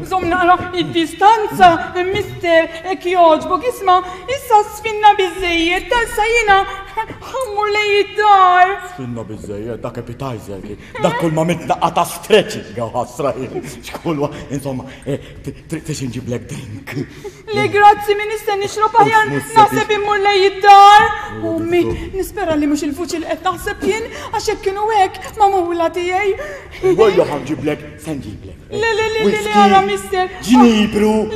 Zom naqra id-distanza, mister, ek joġbok, isma, issa sfinna biżżejjed, tassa jiena ħammur lej id-dar. Sfinna biżżejjed, dak appetizer kien, dak kull ma mitnaqqa ta' stretching, għaw ħasra jien. Xkulwa, insomma, trid inġiblek drink. Le grazzi, min nista' nixrob aħjar, naħseb immur lej id-dar. Ummi, nispera li mhux il-vuċi li qed naħseb jien, għax hekk kienu hekk magħmula tiegħi. Wejja ħanġiblek, se nġiblek. Le, le, le, le, le, ara, mister. Ġnibru.